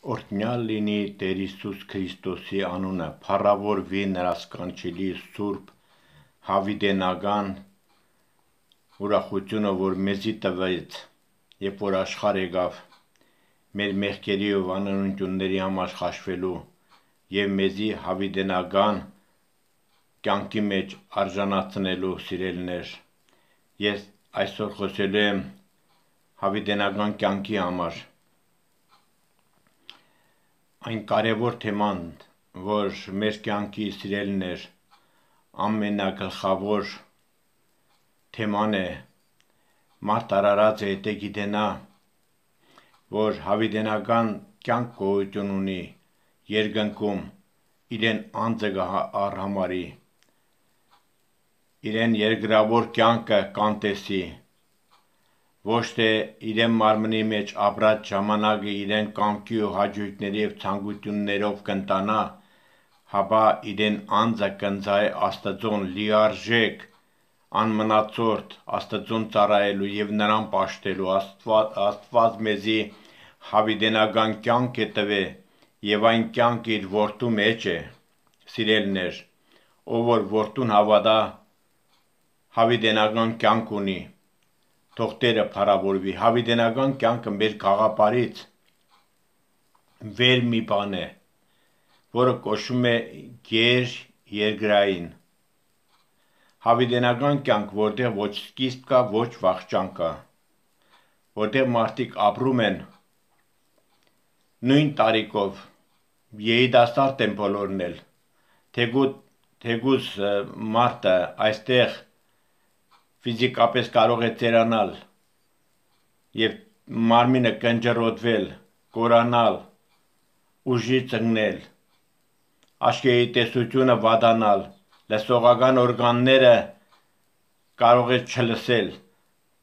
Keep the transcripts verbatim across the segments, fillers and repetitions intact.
Օրհնյալ լինի Տեր Հիսուս Քրիստոսի անունը, փառավորվի նրա սքանչելի սուրբ հավիտենական ուրախությունը, որ մեզի տվեց, երբ որ աշխարհ եկավ, մեր մեղքերի ու անօրենությունների համար խաշվելու եւ մեզի հավիտենական կյանքի մեջ արժանացնելու սիրելիներ։ Ես այսօր խոսելու եմ հավիտենական կյանքի համար։ Այն կարևոր թեման, որ մեր կյանքի սիրելիներ ամենագլխավոր թեման է, մարդ արարած է եթե գիտենա, որ հավիտենական կյանք գոյություն ունի երկնքում, իրեն անձը կառհամարի, իրեն երկրավոր կյանքը կանտեսի, ոչ թե իրեն մարմնի մեջ ապրած ժամանակը իրեն կամքի ու հաճույքների և ցանկություններով կընտանա, հապա իրեն անձը կընծայ Աստծուն լիարժեք, անմնացորդ Աստծուն ծառայելու և նրան պաշտելու։ Աստված, Աստված մեզի հավիտենական կյանք է տվել և այն կյանքը իր որդու մեջ է, սիրելիներ, ով որ որդուն հավատա, հավիտենական կյանք ունի, թող Տերը փառավորվի։ Հավիտենական կյանքը մեր գաղափարից վեր մի բան է, որը կոչվում է գերերկրային։ Հավիտենական կյանք, որտեղ ոչ սկիզբ կա, ոչ վախճան կա, որտեղ մարդիկ ապրում են նույն տարիքով, երիտասարդ են բոլորն էլ, թեկուզ մարդը այստեղ ֆիզիկապես կարող է ծերանալ և մարմինը կնճռոտվել, կորանալ, ուժից ընկնել, աչքերի տեսությունը վատանալ, լսողական օրգանները կարող է չլսել,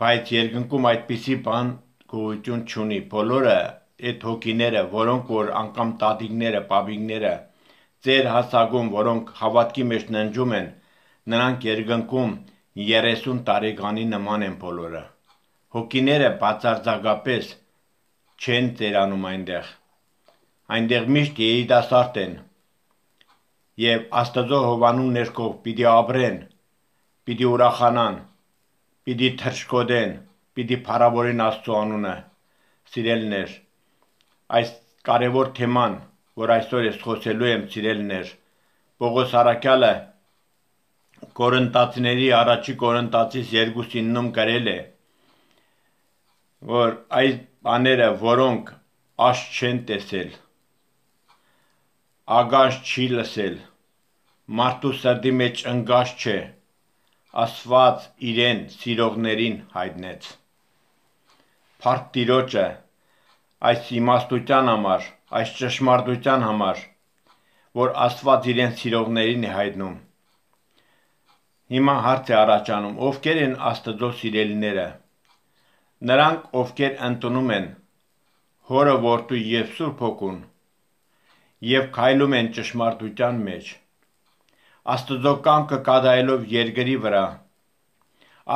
բայց երկնքում այդպիսի բան գոյություն չունի։ Բոլորը այդ հոգիները, որոնք որ անգամ տատիկները, պապիկները, ձեր հասակում, որոնք հավատքի մեջ ննջում են, նրանք երկնքում երեսուն տարեկանի նման են բոլորը։ Հոգիները բացարձակապես չեն ծերանում այնտեղ, այնտեղ միշտ երիտասարդ են և Աստծո հովանու ներքո պիտի ապրեն, պիտի ուրախանան, պիտի թռչկոտեն, պիտի փառավորեն Աստծո անունը։ Սիրելիներ, այս կարևոր թեման, որ այսօր ես խոսելու եմ, սիրելիներ, Պողոս առաքյալը Կորինթացիների առաջի Կորինթացիս երկուսիննում գրել է, որ այս բաները, որոնք աչք չեն տեսել, ականջ չի լսել, մարդու սրտի մեջ ընկած չէ, Աստված իրեն սիրողներին հայտնեց։ Փառք Տիրոջը այս իմաստության համար, այս ճշմարտության համար, որ Աստված իրեն սիրողներին է հայտնում։ Հիմա հարց է առաջանում, ովքեր են Աստծո սիրելիները։ Նրանք, ովքեր ընդունում են Հորը, Որդու և Սուրբ Հոգուն և քայլում են ճշմարտության մեջ, Աստծո կամքը կատարելով երկրի վրա,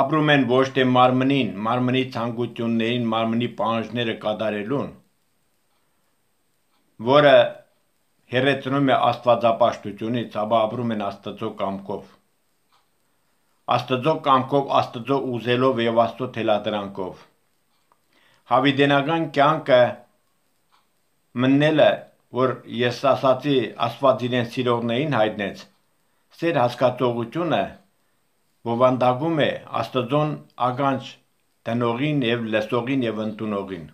ապրում են ոչ թե մարմնին, մարմնի ցանկություններին, մարմնի պահանջները կատարելուն, որը հեռացնում է աստվածապաշտությունից, ապա ապրում են Աստծո կամքով։ Աստծո կամքով, Աստծո ուզելով և Աստծո թելադրանքով։ Հավիտենական կյանքը մտնելը, որ ես ասացի, Աստված իրեն սիրողներին հայտնեց, սեր հասկացողությունը բովանդակում է Աստծուն ականջ դնողին և լսողին և ընդունողին։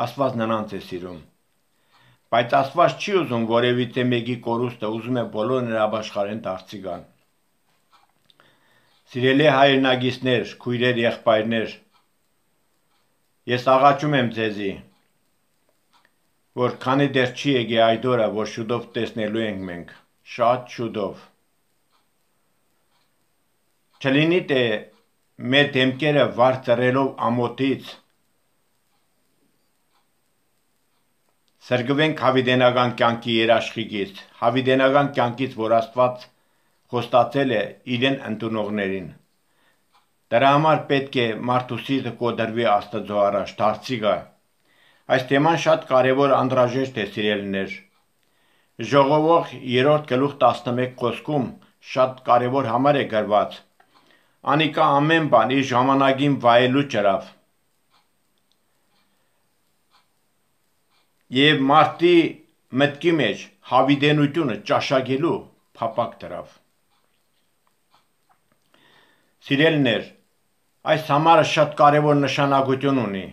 Աստված նրանց է սիրում։ Բայց Աստված չի ուզում որևիցե մեկի կորուստը, ուզում է բոլորը նրա ապաշխարեն դարձի գան։ Սիրելի հայրենակիցներ, քույրեր, եղբայրներ, ես աղաչում եմ ձեզի, որ քանի դեռ չի եկել այդ օրը, որ շուտով տեսնելու ենք մենք, շատ շուտով, չլինի թե մեր դեմքերը վար ծռելով ամոթից սրգվենք հավիտենական կյանքի երաշխիքից, հավիտենական կյանքից, որ Աստված խոստացել է իրեն ընդունողներին։ Դրա համար պետք է մարդու սիրտը կոտրվի Աստծո առաջ, դարձի գա, Այս թեման շատ կարևոր անհրաժեշտ է, սիրելիներ։ Ժողովող երրորդ գլուխ տասնմեկ խոսքում շատ կարևոր համար է գրված. Անիկա ամեն բան իր ժամանակին վայելու ճրավ։ Եվ մարդի մտքի մեջ հավիտենությունը ճաշակելու փափակ դրավ։ Սիրելիներ, այս համարը շատ կարևոր նշանակություն ունի,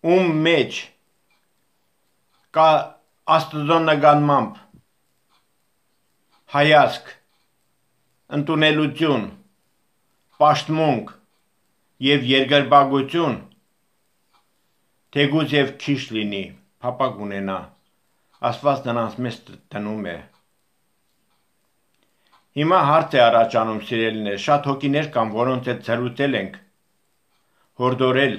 ում մեջ կա Աստծո նկատմամբ հայացք, ընդունելություն, պաշտմունք եւ երկրպագություն, թեգուզ եւ քիչ լինի, փափակ ունենա, Աստված նրանց մեզ տնում է։ Հիմա հարց է առաջանում, սիրելիներ, շատ հոգիներ կան, որոնց հետ զրուցել ենք, հորդորել,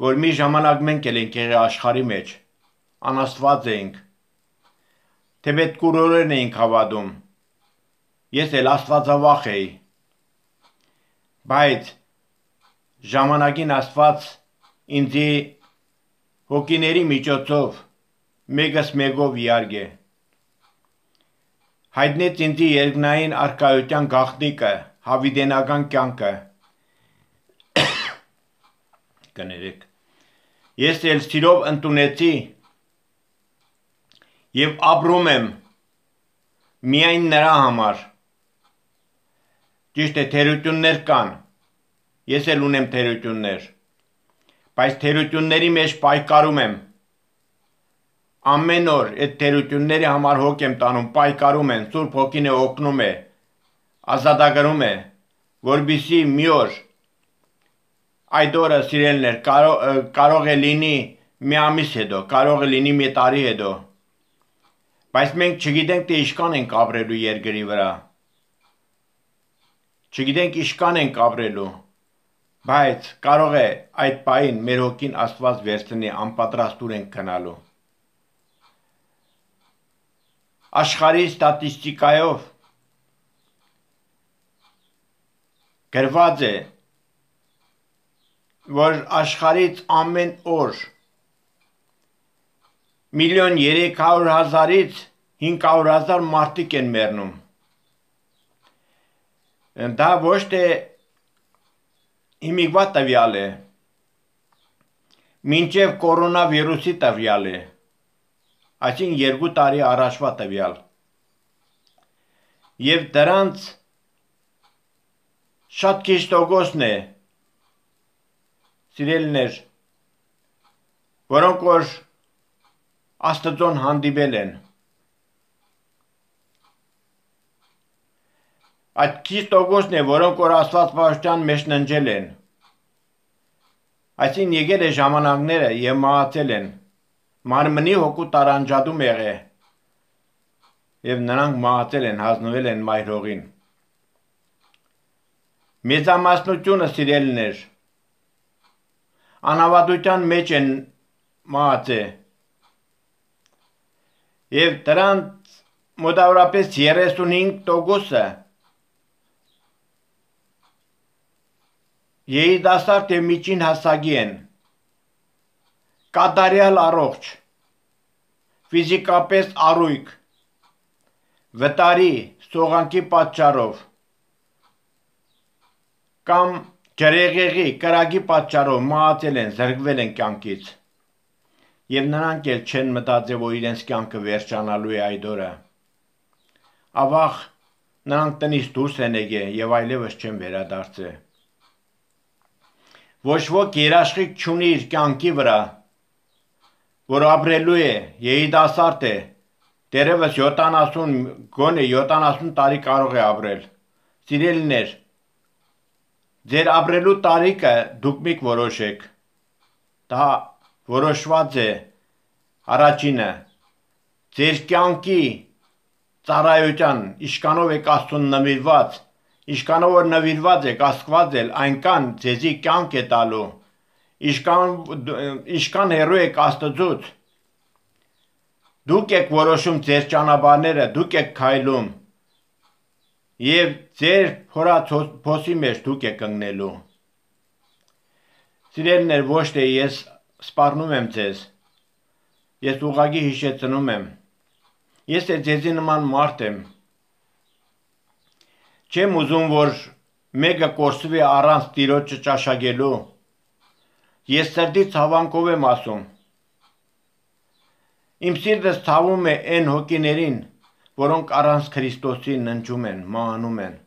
որ մի ժամանակ մենք էլ ենք եղել աշխարհի մեջ, անաստված էինք, թե պետքուրորեն էինք հավատում, ես էլ աստվածավախ էի, բայց ժամանակին Աստված ինձի հոգիների միջոցով մեկս մեկով իարգե, հայտնեց ինձի երկնային արքայության գաղտնիքը, հավիտենական կյանքը, կներեք, ես էլ սիրով ընդունեցի և ապրում եմ միայն նրա համար, ճիշտ է թերություններ կան, ես էլ ունեմ թերություններ, բայց թերությունների մեջ պայքարում եմ, ամեն օր այդ թերությունների համար հոգ եմ տանում, պայքարում եմ, Սուրբ Հոգին է օգնում է, ազատագրում է, որպեսզի մի օր այդ օրը սիրելիներ կարող, կարող է լինի մի ամիս հետո, կարող է լինի մի տարի հետո, բայց մենք չգիտենք թե ինչքան ենք ապրելու երկրի վրա, չգիտենք ինչքան ենք ապրելու, բայց կարող է այդ պահին մեր հոգին Աստված վերցնի, անպատրաստուր ենք գնալու։ Աշխարհի ստատիստիկայով գրված է, որ աշխարհից ամեն օր միլիոն երեք հարյուր հազարից հինգ հարյուր հազար մարդիկ են մեռնում։ Դա ոչ թե հիմիկվա տվյալ է, մինչև կորոնավիրուսի տվյալ է, այսինքն երկու տարի առաջվա տվյալ, և դրանց շատ քիչ տոկոսն է, սիրելիներ, որոնք որ Աստծուն հանդիպել են, այդ քիչ տոկոսն է, որոնք որ Աստված պաշտպան մեջ ննջել են, այսինքն եկել է ժամանակները և մահացել են, մարմնի հոգու տարանջատում եղել և նրանք մահացել են, հանձնվել են մայր հողին։ Մեծամասնությունը, սիրելիներ, անհավատության մեջ են մահացել և դրանց մոտավորապես երեսունհինգ տոկոսը երիտասարդ և միջին հասակի են, կատարյալ առողջ, ֆիզիկապես առույգ, վտարի, սողանքի պատճառով կամ ջրեղեղի, կրակի պատճառով մահացել են, զրկվել են կյանքից և նրանք էլ չեն մտածել, որ իրենց կյանքը վերջանալու է այդ օրը, ավաղ նրանք տնից դուրս են եկել և այլևս չեն վերադարձել։ Ոչ ոք երաշխիք չունի իր կյանքի վրա, որ ապրելու է, երիտասարդ է, դեռևս յոթանասուն, գոնե յոթանասուն տարի կարող է ապրել։ Սիրելիներ, ձեր ապրելու տարիքը դուք միք որոշեք, դա որոշված է առաջինը, ձեր կյանքի ծառայության, ինչքանով եք Աստծուն նվիրված, ինչքանով որ նվիրված եք, Աստված էլ այնքան ձեզի կյանք է տալու, ինչքան հեռու եք Աստծուց, դուք եք որոշում ձեր ճանապարհները, դուք եք քայլում և ձեր փորած փոսի մեջ դուք եք ընկնելու։ Սիրելիներ, ոչ թե ես սպառնում եմ ձեզ, ես ուղղակի հիշեցնում եմ, ես է ձեզի նման մարդ եմ, չեմ ուզում, որ մեկը կորսվի առանց Տիրոջը ճաշակելու, ես սրտից ցավանքով եմ ասում, իմ սիրտս ցավում է այն հոգիներին, որոնք առանց Քրիստոսի ննջում են, մահանում են,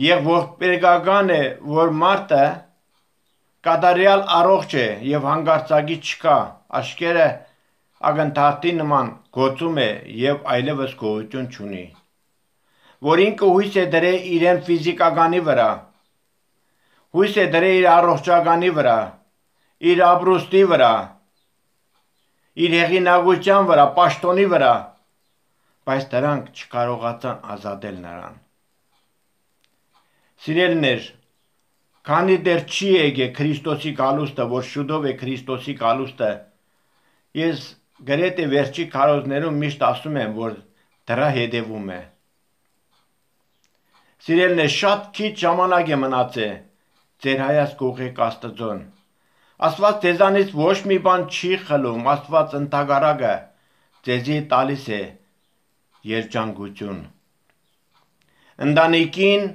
եւ ողբերգական է, որ մարդը կատարյալ առողջ է եւ հանգարցակի չկա, աշկերը ակնթարթի նման գոցում է եւ այլևս գոյություն չունի, որ ինքը հույս է դրել իրեն ֆիզիկականի վրա, հույս է դրել իր առողջականի վրա, իր ապրուստի վրա, իր հեղինակության վրա, պաշտոնի վրա, բայց դրանք չկարողացան ազատել նրան։ Սիրելիներ, քանի դեռ չի եկե Քրիստոսի գալուստը, որ շուտով է Քրիստոսի գալուստը, ես գրեթե վերջի քարոզներում միշտ ասում եմ, որ դրա հետևում է։ Սիրելիներ, շատ քիչ ժամանակ է մնացել, ձեր հայացք ուղղեք Աստծուն։ Աստված ձեզանից ոչ մի բան չի խլում, Աստված ընդհակառակը ձեզի տալիս է երջանկություն։ Ընտանիքին,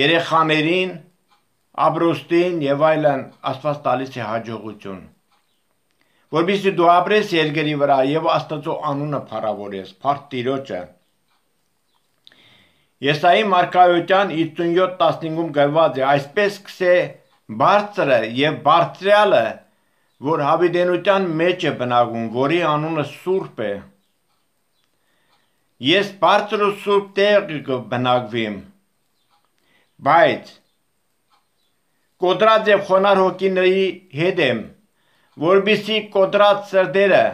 երեխաներին, ապրուստին եւ այլն Աստված տալիս է հաջողություն, որպեսզի դու ապրես երկրի վրա եւ Աստծո անունը փառավորես, փառք Տիրոջը։ Եսայի մարգարեության հիսունյոթ տասնհինգում գրված է. այսպես կսե բարձրը եւ բարձրյալը, որ հավիտենության մեջ է բնակվում, որի անունը Սուրբ է։ Ես բարձր ու սուրբ տեղ կբնակվեմ, բայց կոտրած եւ խոնար հոգիների հետ եմ, որպեսզի կոտրած սրտերը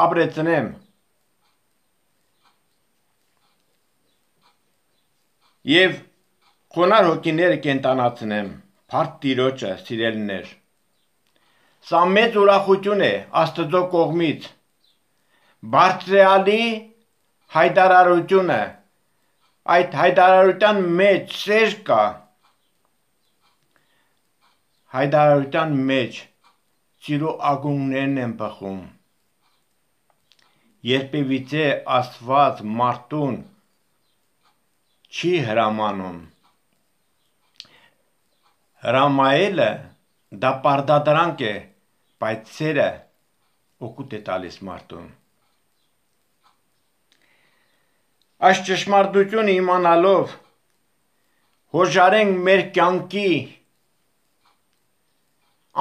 ապրեցնեմ եւ խոնար հոգիները կենտանացնեմ, փառք Տիրոջը, սիրելիներ։ Սա մեծ ուրախություն է Աստծո կողմից, բարձրյալի հայտարարությունը, այդ հայտարարության մեջ սեր կա, հայտարարության մեջ սիրո ակունքներն են բխում, երբևիցե Աստված մարդուն չի հրամանում, հրամայելը դա պարտադրանք է, բայց սերը օգուտ է տալիս մարդուն։ Այս ճշմարտությունը իմանալով հոժարենք մեր կյանքի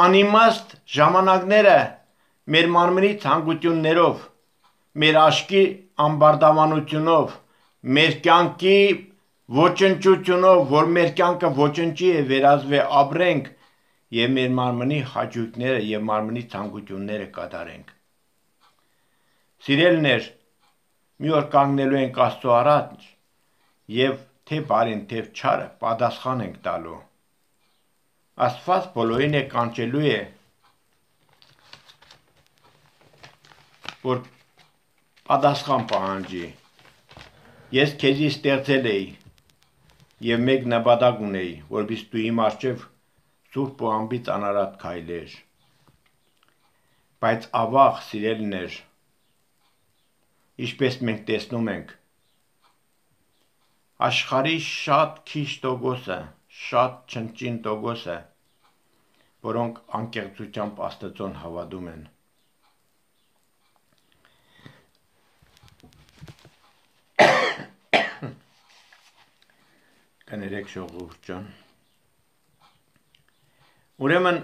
անիմաստ ժամանակները մեր մարմնի ցանկություններով, մեր աչքի ամբարտավանությունով, մեր կյանքի ոչնչությունով, որ մեր կյանքը ոչնչի է վերածվի ապրենք եւ մեր մարմնի հաճույքները եւ մարմնի ցանկությունները կատարենք։ Սիրելիներ, մի օր կանգնելու ենք Աստծո առաջ եւ թե բարին, թե չարը պատասխան ենք տալու։ Աստված բոլորին է կանչելու է, որ պատասխան պահանջի։ Ես քեզի ստեղծել էի եւ մեկ նպատակ ունեի, որպեսզի դու իմ առջև սուրբ ու անբիծ անարատ քայլեր։ Բայց ավաղ, սիրելիներ, ինչպես մենք տեսնում ենք, աշխարհի շատ քիչ տոկոսը, շատ չնչին տոկոսը, որոնք անկեղծությամբ Աստծուն հավատում են։ Կներեք ժողովուրդ ջան։ Ուրեմն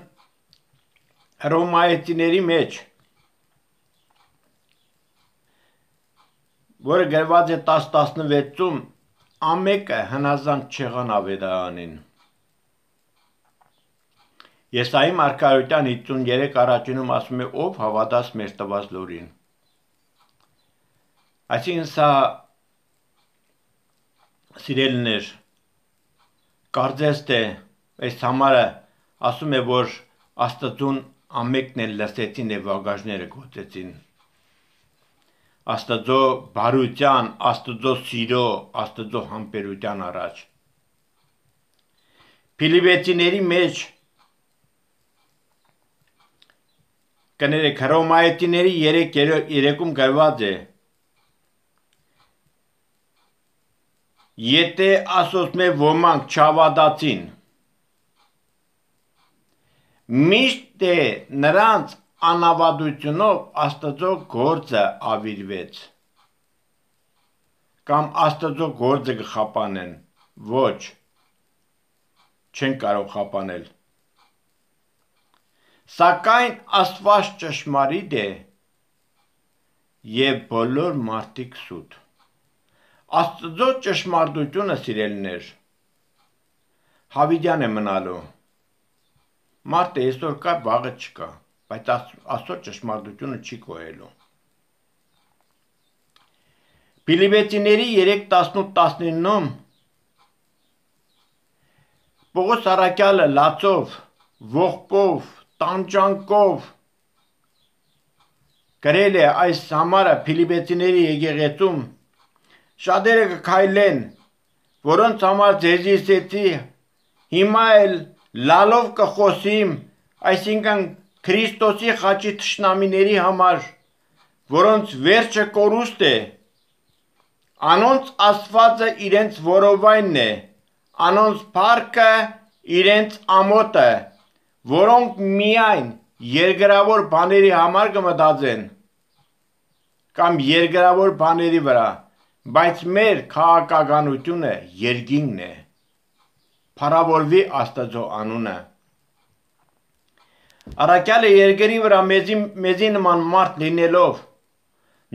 Հռոմայեցիների մեջ, որը գրված է տասը տասնվեցում, ամեկը հնազանդ չեղան ավետարանին։ Եսայի մարգարեության հիսունյոթ առաջինում ասում է, ով հավատաց մեր տված լուրին։ Այսինքն սա, սիրելիներ, կարծես թե այս համարը ասում է, որ Աստծուն ամեկն էլ լսեցին եւ վագաժները գոցեցին։ Աստծո բարության, Աստծո սիրո, Աստծո համբերության առաջ։ Փիլիպեցիների մեջ կներեք հռոմայեցիների երեքում գրված է եթե ասոցմե ոմանք չավադացին միշտ է նրանց անավադությունով Աստծո գործը ավիրվեց կամ Աստծո գործը կխապանեն ոչ չեն կարող խապանել Սակայն Աստված ճշմարիտ է և բոլոր մարդիկ սուտ Աստծո ճշմարտությունը սիրելիներ հավիտյան է մնալու Մարդը այսօր կա վաղը չկա բայց Աստծո ճշմարտությունը չի կոյելու Փիլիպեցիների երեք տասնութ տասնինում Պողոս առաքյալը լացով, ողբով, տանջանքով գրել է այս համարը Փիլիպեցիների եկեղեցում շատերը կքայլեն, որոնց համար ձեզի ասեցի, հիմա էլ լալով կխոսիմ, այսինքն Քրիստոսի խաչի թշնամիների համար, որոնց վերջը կորուստ է, անոնց Աստվածը իրենց որովայնն է, անոնց փառքը իրենց ամոթը, որոնք միայն երկրավոր բաների համար կմտածեն կամ երկրավոր բաների վրա, բայց մեր քաղաքականությունը երկինքն է, փառավորվի Աստծո անունը։ Առաքյալը երկրի վրա մեզի, մեզի նման մարդ լինելով,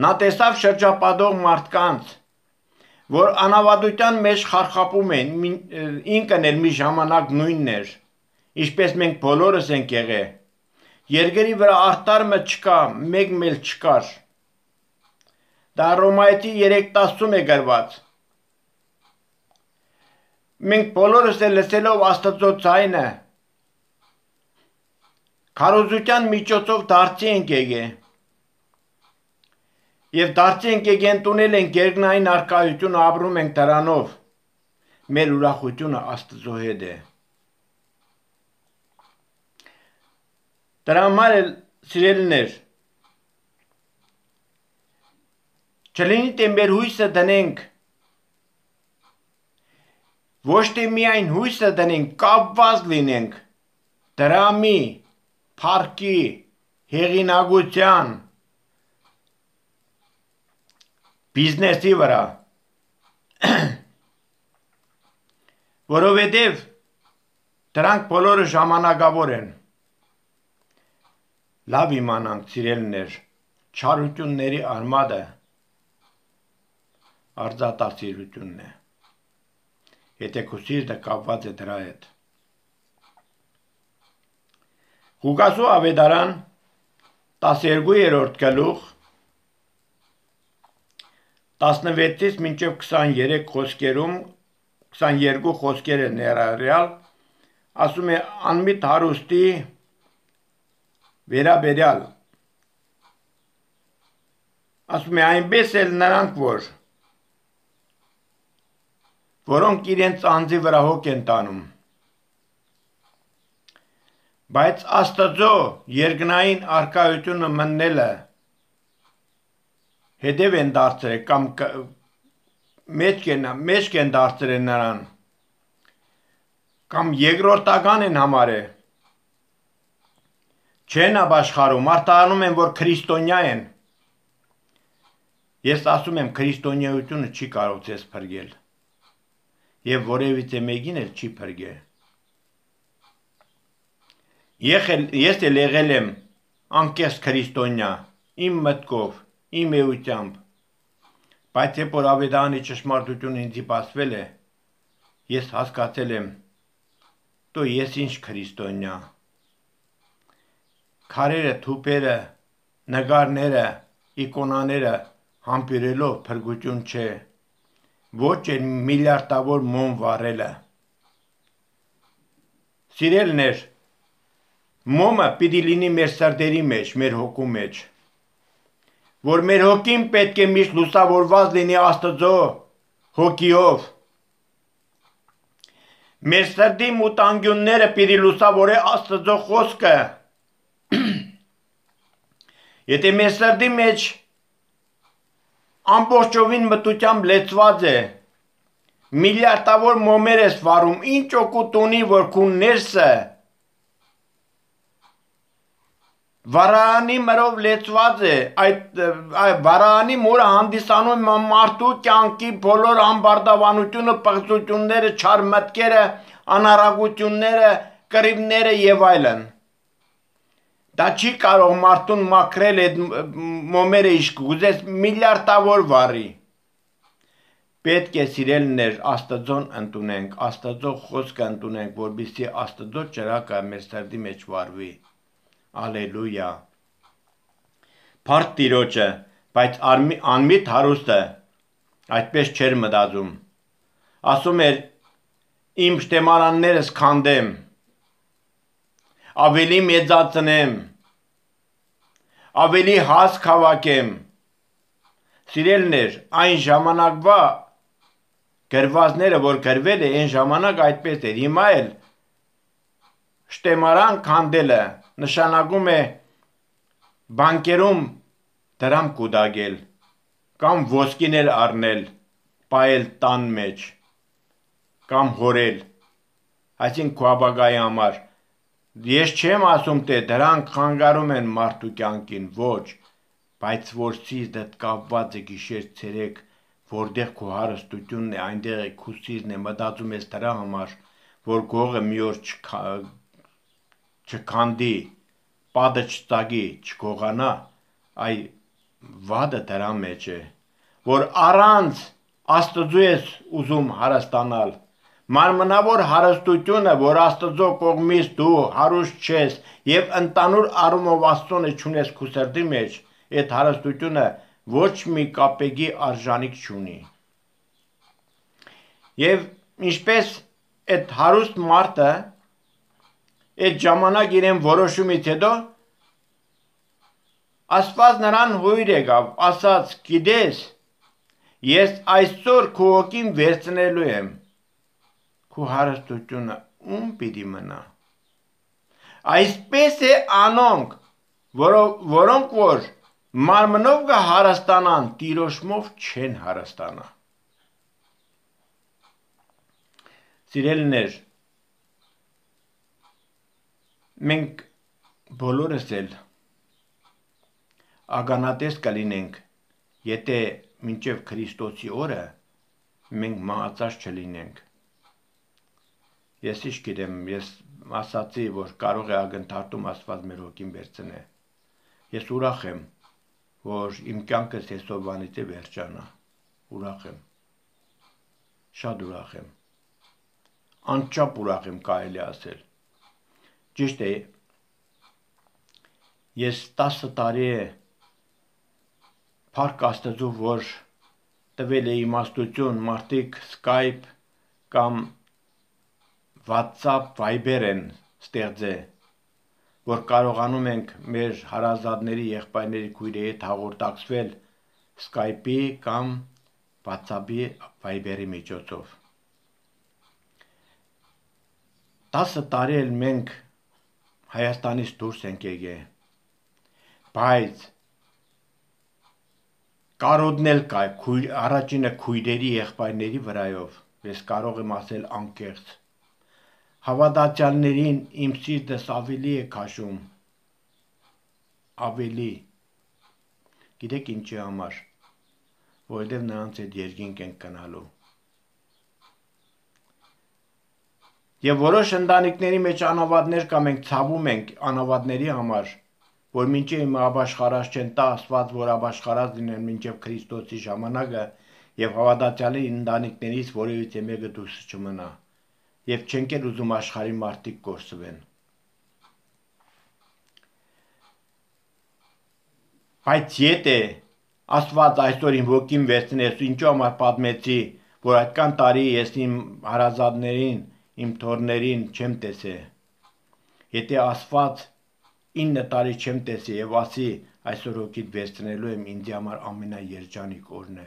նա տեսավ շրջապատող մարդկանց, որ անավադության մեջ խարխապում են, ինքն էլ մի ժամանակ նույնն էր, ինչպես մենք բոլորս ենք եղել, երկրի վրա արդարը չկա, մեկ մել չկար, դա Հռոմայեցի երեք տասնում է գրված, մենք բոլորս էլ լսելով Աստծո ձայնը, քարոզության միջոցով դարձի ենք եկել, և դարձի ենք եկեն տունել ենք երկնային առկայությունը ապրում ենք դրանով, մեր ուրախությունը Աստծո հետ է։ Դրա համար էլ սիրելիներ, չլինի թե մեր հույսը դնենք, ոչ թե միայն հույսը դնենք, կապված լինենք դրամի, փառքի, հեղինակության, բիզնեսի վրա, որովհետև դրանք բոլորը ժամանակավոր են, լավ իմանանք սիրելիներ, չարությունների արմատը արծաթասիրությունն է, եթե քո սիրտը կապված է դրա հետ։ Ղուկասու ավետարան տասներկուերորդ գլուխ տասնվեցից մինչև քսաներեք խոսքերում քսաներկու խոսքերը ներառյալ ասում է անմիտ հարուստի վերաբերյալ ասում է այնպես էլ նրանք որ որոնք իրենց անձի վրա հոգ են տանում բայց Աստծո երկնային առկայությունը մտնելը հետև են դարձրել կամ մեջք են դարձրել նրան կամ երկրորդական են համարել չեն ապաշխարում, արտահանում են, որ քրիստոնյա են ես ասում եմ քրիստոնյայությունը չի կարող ձեզ փրկել և որևիցե մեկին էլ չի փրկել Ես էլ եղել եմ անկեղծ քրիստոնյա, իմ մտքով, իմ էությամբ, բայց երբ որ ավետարանի ճշմարտությունը ինձի բացվել է, ես հասկացել եմ, դու ես ինչ քրիստոնյա, քարերը, թուփերը, նկարները, իկոնաները համբերելով փրկություն չէ, ոչ էլ միլիարդավոր մոմ վառելը։ Սիրելիներ, մոմը պիտի լինի մեր սրտերի մեջ, մեր հոգու մեջ, որ մեր հոգին պետք է միշտ լուսավորված լինի Աստծո հոգիով, Մեր սրտի մուտանգյունները պիտի լուսավորե Աստծո խոսքը։ Եթե մեր սրտի մեջ ամբողջովին մտությամբ լեցված է, միլիարդավոր մոմեր ես վարում, ինչ օգուտ ունի, որ քու ներսը վարանի մրով լեցված է, այդ վարանի մուրը հանդիսանում է մարդու կյանքի բոլոր ամբարտավանությունը, պղծությունները, չար մտքերը, անարագությունները, կռիվները եւ այլն։ Դա չի կարող մարդուն մաքրել այդ մոմերը իշք գուզես միլիարդավոր վարի։ Պետք է սիրելիներ Աստծոն ընդունենք, Աստծո խոսքը ընդունենք, որպեսզի Աստծո ճրակը մեր սրտի մեջ վարվի։ Ալելույա։ Փառք Տիրոջը, բայց անմիտ հարուստը այդպես չէր մտածում։ Ասում էր իմ շտեմարաններս քանդեմ, ավելի մեծացնեմ, ավելի հաս հավաքեմ։ Սիրելիներ, այն ժամանակվա գրվածները, որ գրվել է, այն ժամանակ այդպես էր, հիմա էլ շտեմարան քանդելը նշանակում է բանկերում դրամ կուտակել կամ ոսկին էլ առնել, պայել տան մեջ կամ հորել, այսինքն քո ապագայի համար։ Ես չեմ ասում, թե դրանք խանգարում են մարդու կյանքին, ոչ, բայց որ սիրտդ կապված է գիշեր ցերեկ, որտեղ քո հարստությունն է, այնտեղ է քո սիրտն է, մտածում ես դրա համար, որ գողը մի օր չքանդի, պատը չծագի, չգողանա, այ վադը դրա մեջ է, որ առանց Աստծո ես ուզում հարստանալ, մարմնավոր հարստությունը, որ Աստծո կողմից դու հարուստ չես եւ ընդանուր առումով Աստծոն չունես քո սրտի մեջ, այդ հարստությունը ոչ մի կապեգի արժանիք չունի։ Եվ ինչպես այդ հարուստ մարդը այդ ժամանակ իրեն որոշումից հետո Աստված նրան հույր եկավ, ասաց, գիտես, ես այսօր քո հոգին վերցնելու եմ, քո հարստությունը ում պիտի մնա։ Այսպես է անոնք, որոնք որ մարմնով կհարստանան, տիրոշմով չեն հարստանա։ Սիրելիներ, մենք բոլորս էլ ականատես կլինենք, եթե մինչև Քրիստոսի օրը մենք մահացած չլինենք։ Ես ինչ գիտեմ, ես ասացի, որ կարող է ակնթարթում Աստված մեր հոգին վերցնե։ Ես ուրախ եմ, որ իմ կյանքս այսօրվանից է վերջանա։ Ուրախ եմ։ Շատ ուրախ եմ։ Անչափ ուրախ եմ, կարելի ասել։ Ճիշտ է, ես տասը տարի է փառք Աստծո, որ տվել է իմաստություն, մարդիկ Skype կամ WhatsApp, Viber են ստեղծել, որ կարողանում ենք մեր հարազատների, եղբայրների, քույրերի հետ հաղորդակցվել Skype-ի կամ WhatsApp-ի, Viber-ի միջոցով։ Տասը տարի էլ մենք Հայաստանից դուրս ենք եկել, բայց կարոդնել կա առաջինը քույրերի եղբայրների վրայով, ես կարող եմ ասել անկեղծ, հավատացյալներին իմ սիրտս ավելի է քաշում, ավելի, գիտեք ինչի համար, որովհետև նրանց այդ երկինք ենք գնալու։ Եվ որոշ ընտանիքների մեջ անավատներ կա, մենք ցավում ենք անավատների համար, որ մինչև իմ ապաշխարած չեն, տա Աստված, որ ապաշխարած լինեն մինչև Քրիստոսի ժամանակը եւ հավատացյալի ընտանիքներից որևիցե մեկը դուրս չմնա եւ չենք էլ ուզում աշխարհի մարդիկ կորսվեն։ Բայց եթե Աստված այսօր իմ ոգին վերցնես, ինչու համար պատմեցի, որ այդքան տարի ես իմ հարազատներին, իմ թորներին չեմ տեսել։ Եթե Աստված ինը տարի չեմ տեսել եւ ասի այսօր հոգիդ վերցնելու եմ, ինձ համար ամենաերջանիկ օրն է։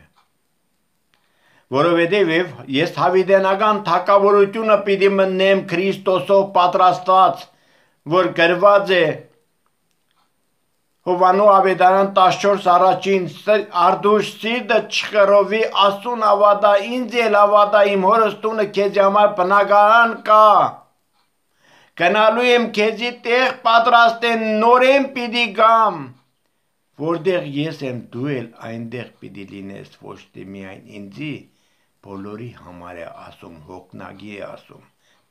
որովհետև ես հավիտենական թակավորությունը պիտի մտնեմ Քրիստոսով պատրաստված, որ գրված է Հովանու ավետարան տասնչորս առաջին արդուշ սիրտը չխռովի Աստծուն ավատա, ինձ էլ ավատա, իմ հորս տունը քեզ համար բնակարան կա, գնալու եմ քեզի տեղ պատրաստեն, նորեն պիտի գամ, որտեղ ես եմ, դու էլ այնտեղ պիտի լինես, ոչ թե միայն ինձի, բոլորի համար է ասում, հոգնագի է ասում,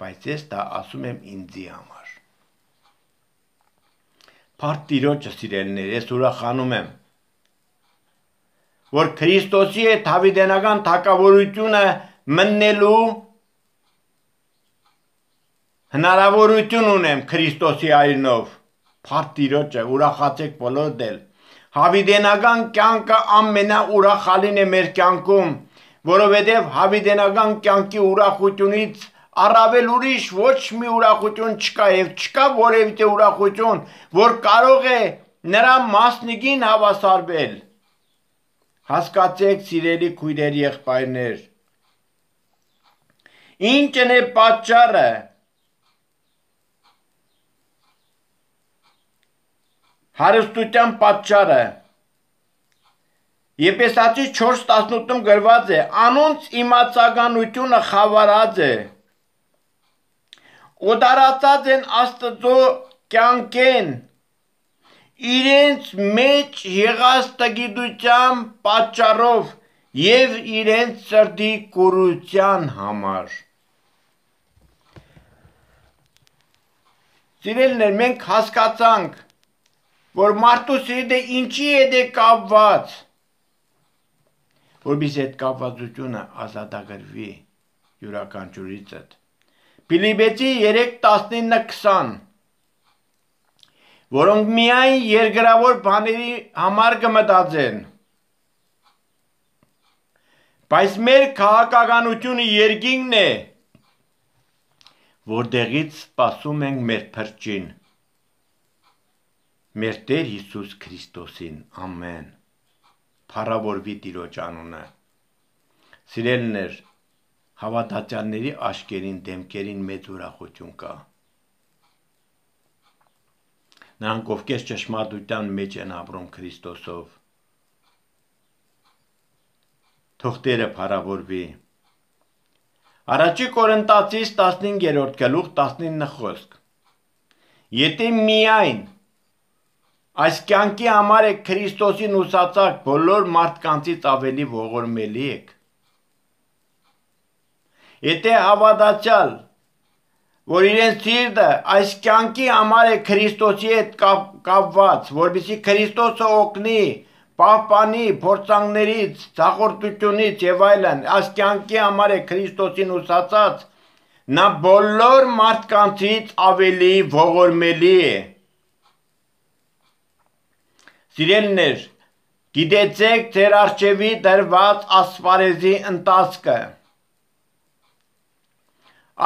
բայց ես դա ասում եմ ինձի համար։ Փառք Տիրոջը սիրելիներ, ես ուրախանում եմ, որ Քրիստոսի հետ հավիտենական թակավորությունը մտնելու հնարավորություն ունեմ Քրիստոսի այրնով, փառք Տիրոջը, ուրախացեք բոլորդ էլ, հավիտենական կյանքը ամենաուրախալին է մեր կյանքում, որովհետև հավիտենական կյանքի ուրախությունից առավել ուրիշ ոչ մի ուրախություն չկա և չկա որևիցե ուրախություն, որ կարող է նրա մասնիկին հավասարվել։ Հասկացեք սիրելի քույրեր եղբայրներ, ինչն է պատճառը, հարստության պատճառը, Եփեսացիս չորս տասնութում գրված է, անոնց իմացականությունը խավարած է, օտարացած են Աստծո կյանքեն, իրենց մեջ եղած տգիտության պատճառով և իրենց սրտի կուրության համար։ Սիրելիներ, մենք հասկացանք, որ մարդու սիրտը ինչի հետ է կապված, որպեսզի այդ կապվածությունը ազատագրվի յուրաքանչյուրիցդ։ Փիլիպպեցի երեք տասնինը քսան, որոնք միայն երկրավոր բաների համար կմտածեն, բայց մեր քաղաքականությունը երկինքն է, որտեղից սպասում ենք մեր փրկին, մեր Տեր Հիսուս Քրիստոսին, ամեն, փառավորվի Տիրոջ անունը։ Սիրելիներ, հավատացյալների աչքերին, դեմքերին մեծ ուրախություն կա։ Նրանք ովքեր ճշմարտության մեջ են ապրում Քրիստոսով, թող Տերը փառավորվի։ Առաջի Կորինթացիս տասնհինգերորդ գլուխ տասնինը խոսք։ Եթե միայն այս կյանքի համար եք Քրիստոսին ուսացակ, բոլոր մարդկանցից ավելի ողորմելի եք։ Եթե հավատացյալ, որ իրեն սիրտը այս կյանքի համար է Քրիստոսի հետ կապված, որպեսզի Քրիստոսը օգնի, պահպանի փորձանքներից, ցախորտությունից եւ այլն, այս կյանքի համար է Քրիստոսին ուսացած, նա բոլոր մարդկանցից ավելի ողորմելի է։ Սիրելիներ, գիտեցեք ձեր առջևի դրված ասպարեզի ընթացքը։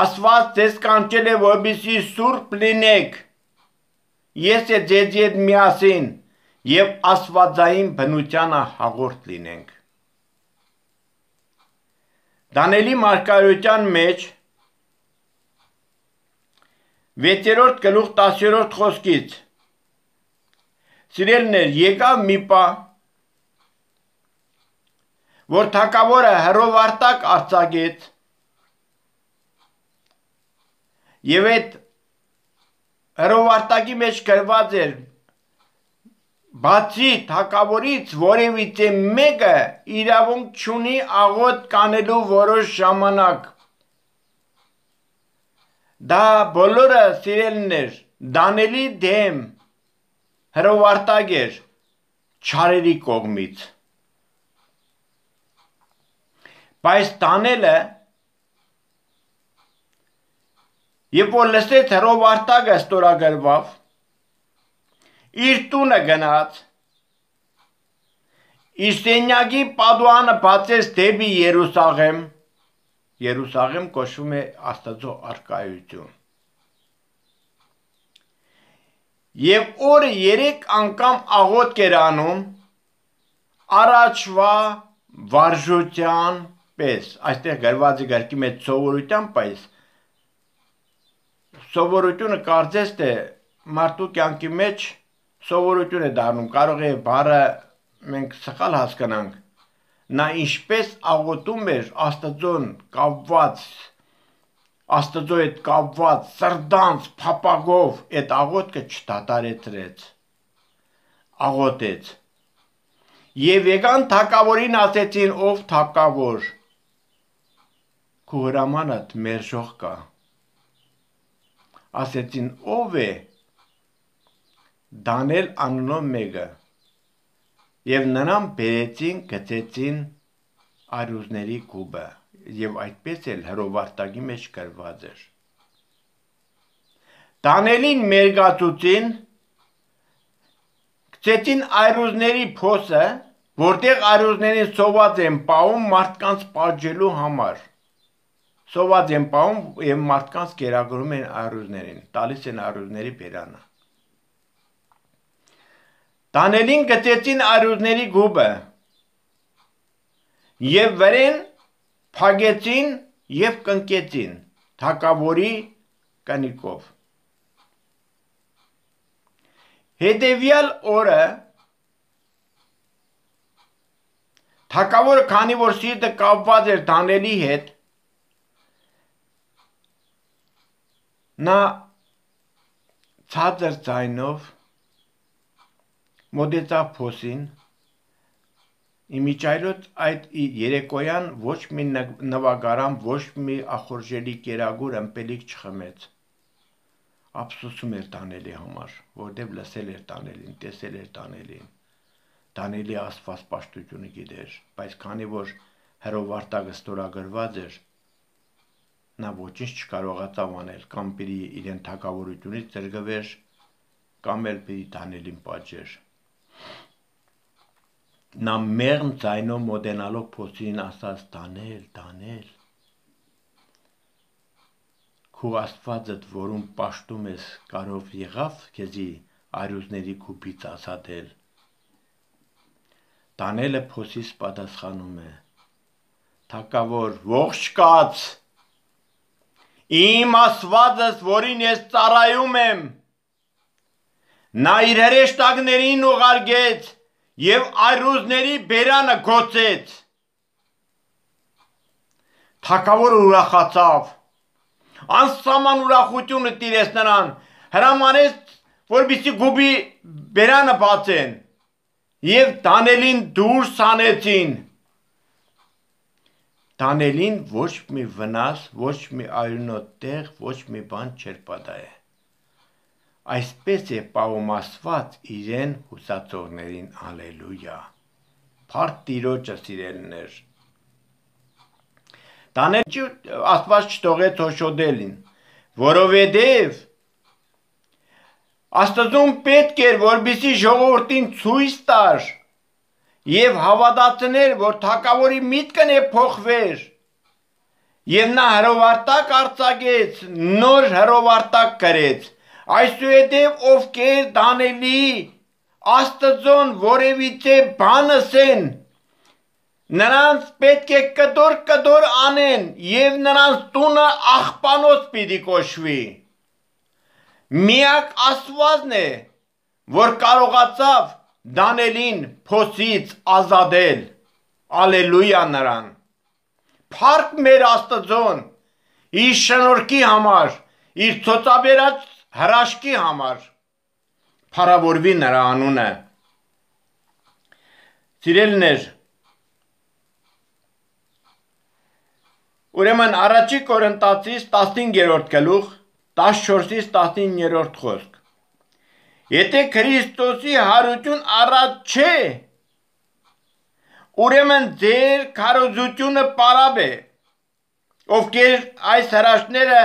Աստված ձեզ կանչել է, որպեսզի սուրբ լինեք, ես է ձեզի հետ միասին և աստվածային բնությանը հաղորդ լինենք։ Դանիելի մարգարեության մեջ վեցերորդ գլուխ տասներորդ խոսքից սիրելիներ, եկավ մի պահ, որ թագավորը հրովարտակ արձակեց և այդ հրովարտակի մեջ գրված էր, բացի թագավորից որևիցե մեկը իրավունք չունի աղոթք կանելու որոշ ժամանակ։ Դա բոլորը սիրելիներ, Դանիելի դեմ հրովարտակ էր չարերի կողմից։ Բայց Դանիելը, երբ որ լսեց հրովարտակը ստորագրվավ, իր տունը գնաց, իր սենյակի պատուհանը բացեց դեպի Երուսաղեմ, Երուսաղեմ կոչվում է Աստծո առկայություն, և օրը երեք անգամ աղոթք էր անում առաջվա վարժության ինչպես այստեղ գրված է գրքի մեջ սովորությամբ, բայց սովորությունը կարծես թե մարդու կյանքի մեջ սովորություն է դառնում, կարող է բառը մենք սխալ հասկանանք, նա ինչպես աղոթում էր Աստծուն կապված, Աստծո հետ կապված սրտանց փափագով այդ աղոթքը չդադարեցրեց, աղոթեց։ Եվ եկան թագավորին ասեցին, ով թագավոր, քո հրամանդ մերժող կա։ Ասեցին, ով է, Դանիել անունով մեկը, եւ նրան բերեցին, գցեցին արյուզների կուբը, եւ այդպես էլ հրովարտակի մեջ գրված էր։ Դանիելին մերգացուցին, գցեցին արյուզների փոսը, որտեղ արյուզներին սոված են պահում մարդկանց պատժելու համար։ Սոված են պահում եւ մարդկանց կերակրում են արյուզներին, տալիս են արյուզների բերանը։ Դանիելին գցեցին արյուզների գուբը եւ վրեն փագեցին եւ կնկեցին թագավորի կնիկով։ Հետևյալ օրը թագավորը, քանի որ սիրտը կապված էր Դանիելի հետ, նա ցածր ձայնով մոտեցավ փոսին, իմիջայլոց այդ երեկոյան ոչ մի նվագարան, ոչ մի ախորժելի կերագուր ըմպելիք չխմեց։ Ափսոսում էր Դանիելի համար, որտեղ լսել էր Դանիելին, տեսել էր Դանիելին։ Դանիելի աստված պաշտությունը գիտեր, բայց քանի որ հրովարտակը ստորագրված էր, նա ոչինչ չկարողացավ անել, կամ պիտի իրեն թագավորությունից զրկվեր, կամ էլ պիտի Դանիելին պատժեր։ Նա մեղմ ձայնով մոտենալով փոսին ասաց, Դանիել, Դանիել, քո աստվածդ, որում պաշտում ես, կարով եղավ քեզի արյուզների կուբից ազատել։ Դանիելը փոսից պատասխանում է. Թագավոր, ողջ կաց, իմ աստվածս, որին ես ծառայում եմ, նա իր հրեշտակներին ուղարկեց եւ արյուզների բերանը գոցեց։ Թագավորը ուրախացավ, անսահման ուրախությունը տիրեց նրան, հրամանեց, որպեսզի գուբի բերանը բացեն եւ Դանիելին դուրս հանեցին։ Դանիելին ոչ մի վնաս, ոչ մի արյունոտ տեղ, ոչ մի բան չէր պատահել։ Այսպես է պահում Աստված իրեն հուսացողներին, ալելույա։ Փառք Տիրոջը, սիրելիներ։ Դանիել Աստված չթողեց հոշոտելին, որովհետև Աստծուն պետք էր, որպեսզի ժողովրդին ցույց տար եւ հավատացներ, որ թագավորի միտքն է փոխվեր, եւ նա հրովարտակ արձակեց, նոր հրովարտակ գրեց, այսուհետև ովքեր Դանիելի Աստծուն որևիցե բան ասեն, նրանց պետք է կտոր կտոր անեն եւ նրանց տունը աղբանոց պիտի կոչվի։ Միակ Աստվածն է, որ կարողացավ Դանիելին փոսից ազատել, ալելույա նրան, փառք մեր Աստծուն, իր շնորհքի համար, իր ցոցաբերած հրաշքի համար, փառավորվի նրա անունը։ Սիրելիներ, ուրեմն առաջի Կորինթացիս տասնհինգերորդ գլուխ տասնչորսից տասնիններորդ խոսք։ Եթե Քրիստոսի հարություն առած չէ, ուրեմն ձեր քարոզությունը պարապ է, ովքեր այս հրաշքները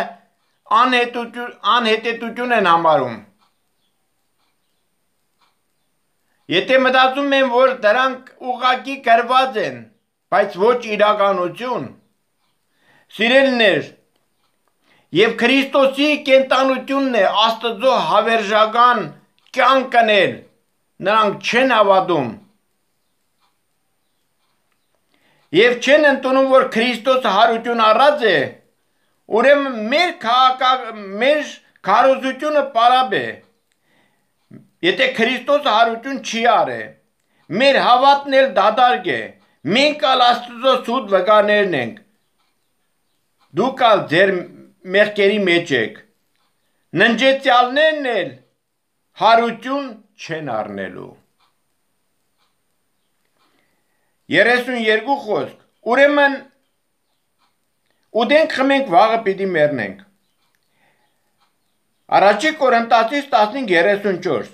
անհետեթություն են համարում։ Եթե մտածում են, որ դրանք ուղղակի գրված են, բայց ոչ իրականություն, սիրելիներ, եւ Քրիստոսի կենտանությունն է Աստծո հավերժական կյանքն էլ, նրանք չեն հավատում։ Եվ չեն ընդունում, որ Քրիստոսը հարություն առած է, ուրեմն մեր մեր քարոզությունը պարաբ է։ Եթե Քրիստոսը հարություն չի արե, մեր հավատն էլ դադարք է, մենք ալ Աստծո սուտ վկաներն ենք, դուք ալ ձեր մեղքերի մեջ եք, ննջեցյալներն էլ հարություն չեն առնելու։ երեսուն երկու խոսք, ուրեմն ուտենք խմենք վաղը պիտի մեռնենք։ Առաջի Կորինթացիս տասնհինգ երեսուն չորս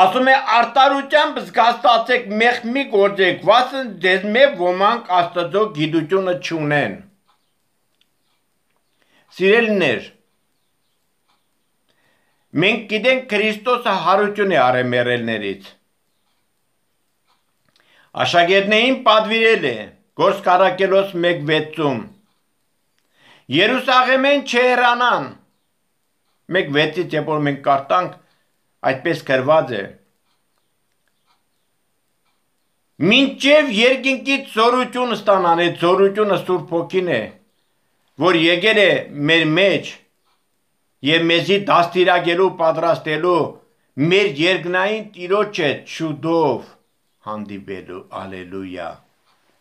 ասում է արտարությամբ զգաստացեք մեղք մի գործեք, վասն ձեզ մեծ ոմանք Աստծո գիտությունը չունեն։ Սիրելիներ, մենք գիտենք Քրիստոսը հարություն է արել մեռելներից։ Աշակերտներին պատվիրել է Գործք առաքելոց մեկ վեցում Երուսաղեմեն չհեռանան, մեկ վեցից երբ որ մենք կարդանք, այդպես գրված է. մինչև երկինքից զորություն ստանան, այդ զորությունը Սուրբ Հոգին է, որ եկել է մեր մեջ եւ մեզի դաստիարակելու, պատրաստելու մեր երկնային Տիրոջը շուտով հանդիպելու, ալելույա։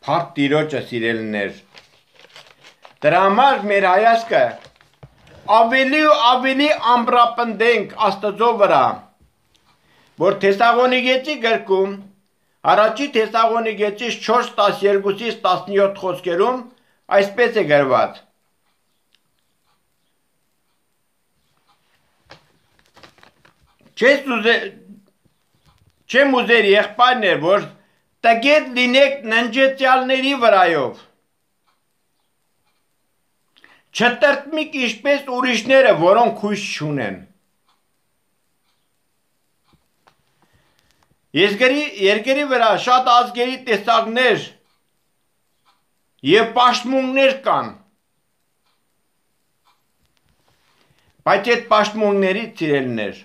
Փառք Տիրոջը, սիրելիներ։ Դրա համար մեր հայացքը ավելի ու ավելի ամրապնդենք Աստծո վրա, որ Թեսաղոնիկեցի գրքում Առաջի Թեսաղոնիկեցիս չորս տասներկուից տասնյոթ խոսքերում այսպես է գրված. Չեմ ուզեր եղբայրներ, որ տգետ լինեք ննջեցյալների վրայով, չտրտմիկ ինչպես ուրիշները, որոնք հույս չունեն։ Երկրի վրա շատ ազգերի տեսակներ և պաշտմունքներ կան, բայց այդ պաշտմունքներից, սիրելիներ,